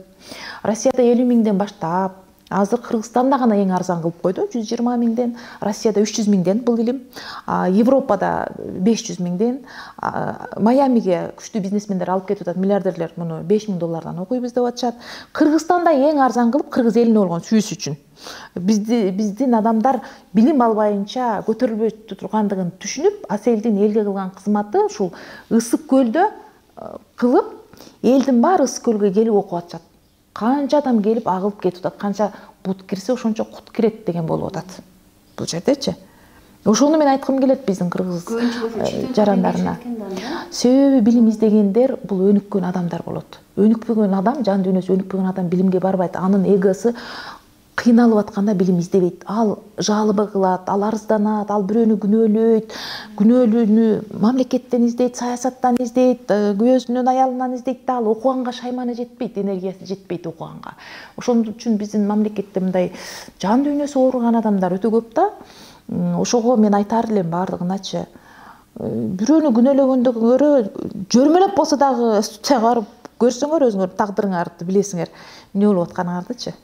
Россияда 50 миңден баштап, азыр Кыргызстанда гана эң арзан кылып койду, 120 миңден, Россияда 300 миңден бул илим, Европада 500 миңден, Майамиге күчтүү бизнесмендер алып кетип атат, миллиардерлер муну $5000 окуйбуз деп атышат. Кыргызстанда эң арзан кылып кыргыз элине болгон сүйүүсү үчүн. Биздин адамдар билим албайынча көтөрүлбөй тургандыгын түшүнүп, Аселдин элге кылган кызматы ушул Ысык көлдө кылып, элдин баары Ысык көлгө келип окуп атышат. Канча адам келип агылып кетип атат, канча бут кирсе ошончо кут кирет деген болуп атат бул жердечи. Ошону мен айткым келет биздин кыргыз жарандарына. Себеби билим издегендер бул өнүккөн адамдар болот. Өнүкпөгөн адам, жан дүйнөсү өнүкпөгөн адам билимге барбайт. Анын эгосу кыйналып атканда билим издебейт. Ал жалоба кылат, ал арызданат, ал бирөөнү күнөөлөйт. Күнөөлүүнү мамлекеттен издейт, саясаттан издейт, өзүнүн аялынан издейт да, ал окуганга шайманы жетпейт, энергиясы жетпейт окуганга. Ошон үчүн биздин мамлекетте мындай жан дүйнөсү ооруган адамдар өтө көп да. Ошого мен айтар элем бардыгыначы, бирөөнү күнөөлөгөндөн көрө жөрмөлөп болсо дагы институцияга барып көрсөңөр өзүңөр тагдырыңарды билесиңер, эмне болуп атканыңардычы.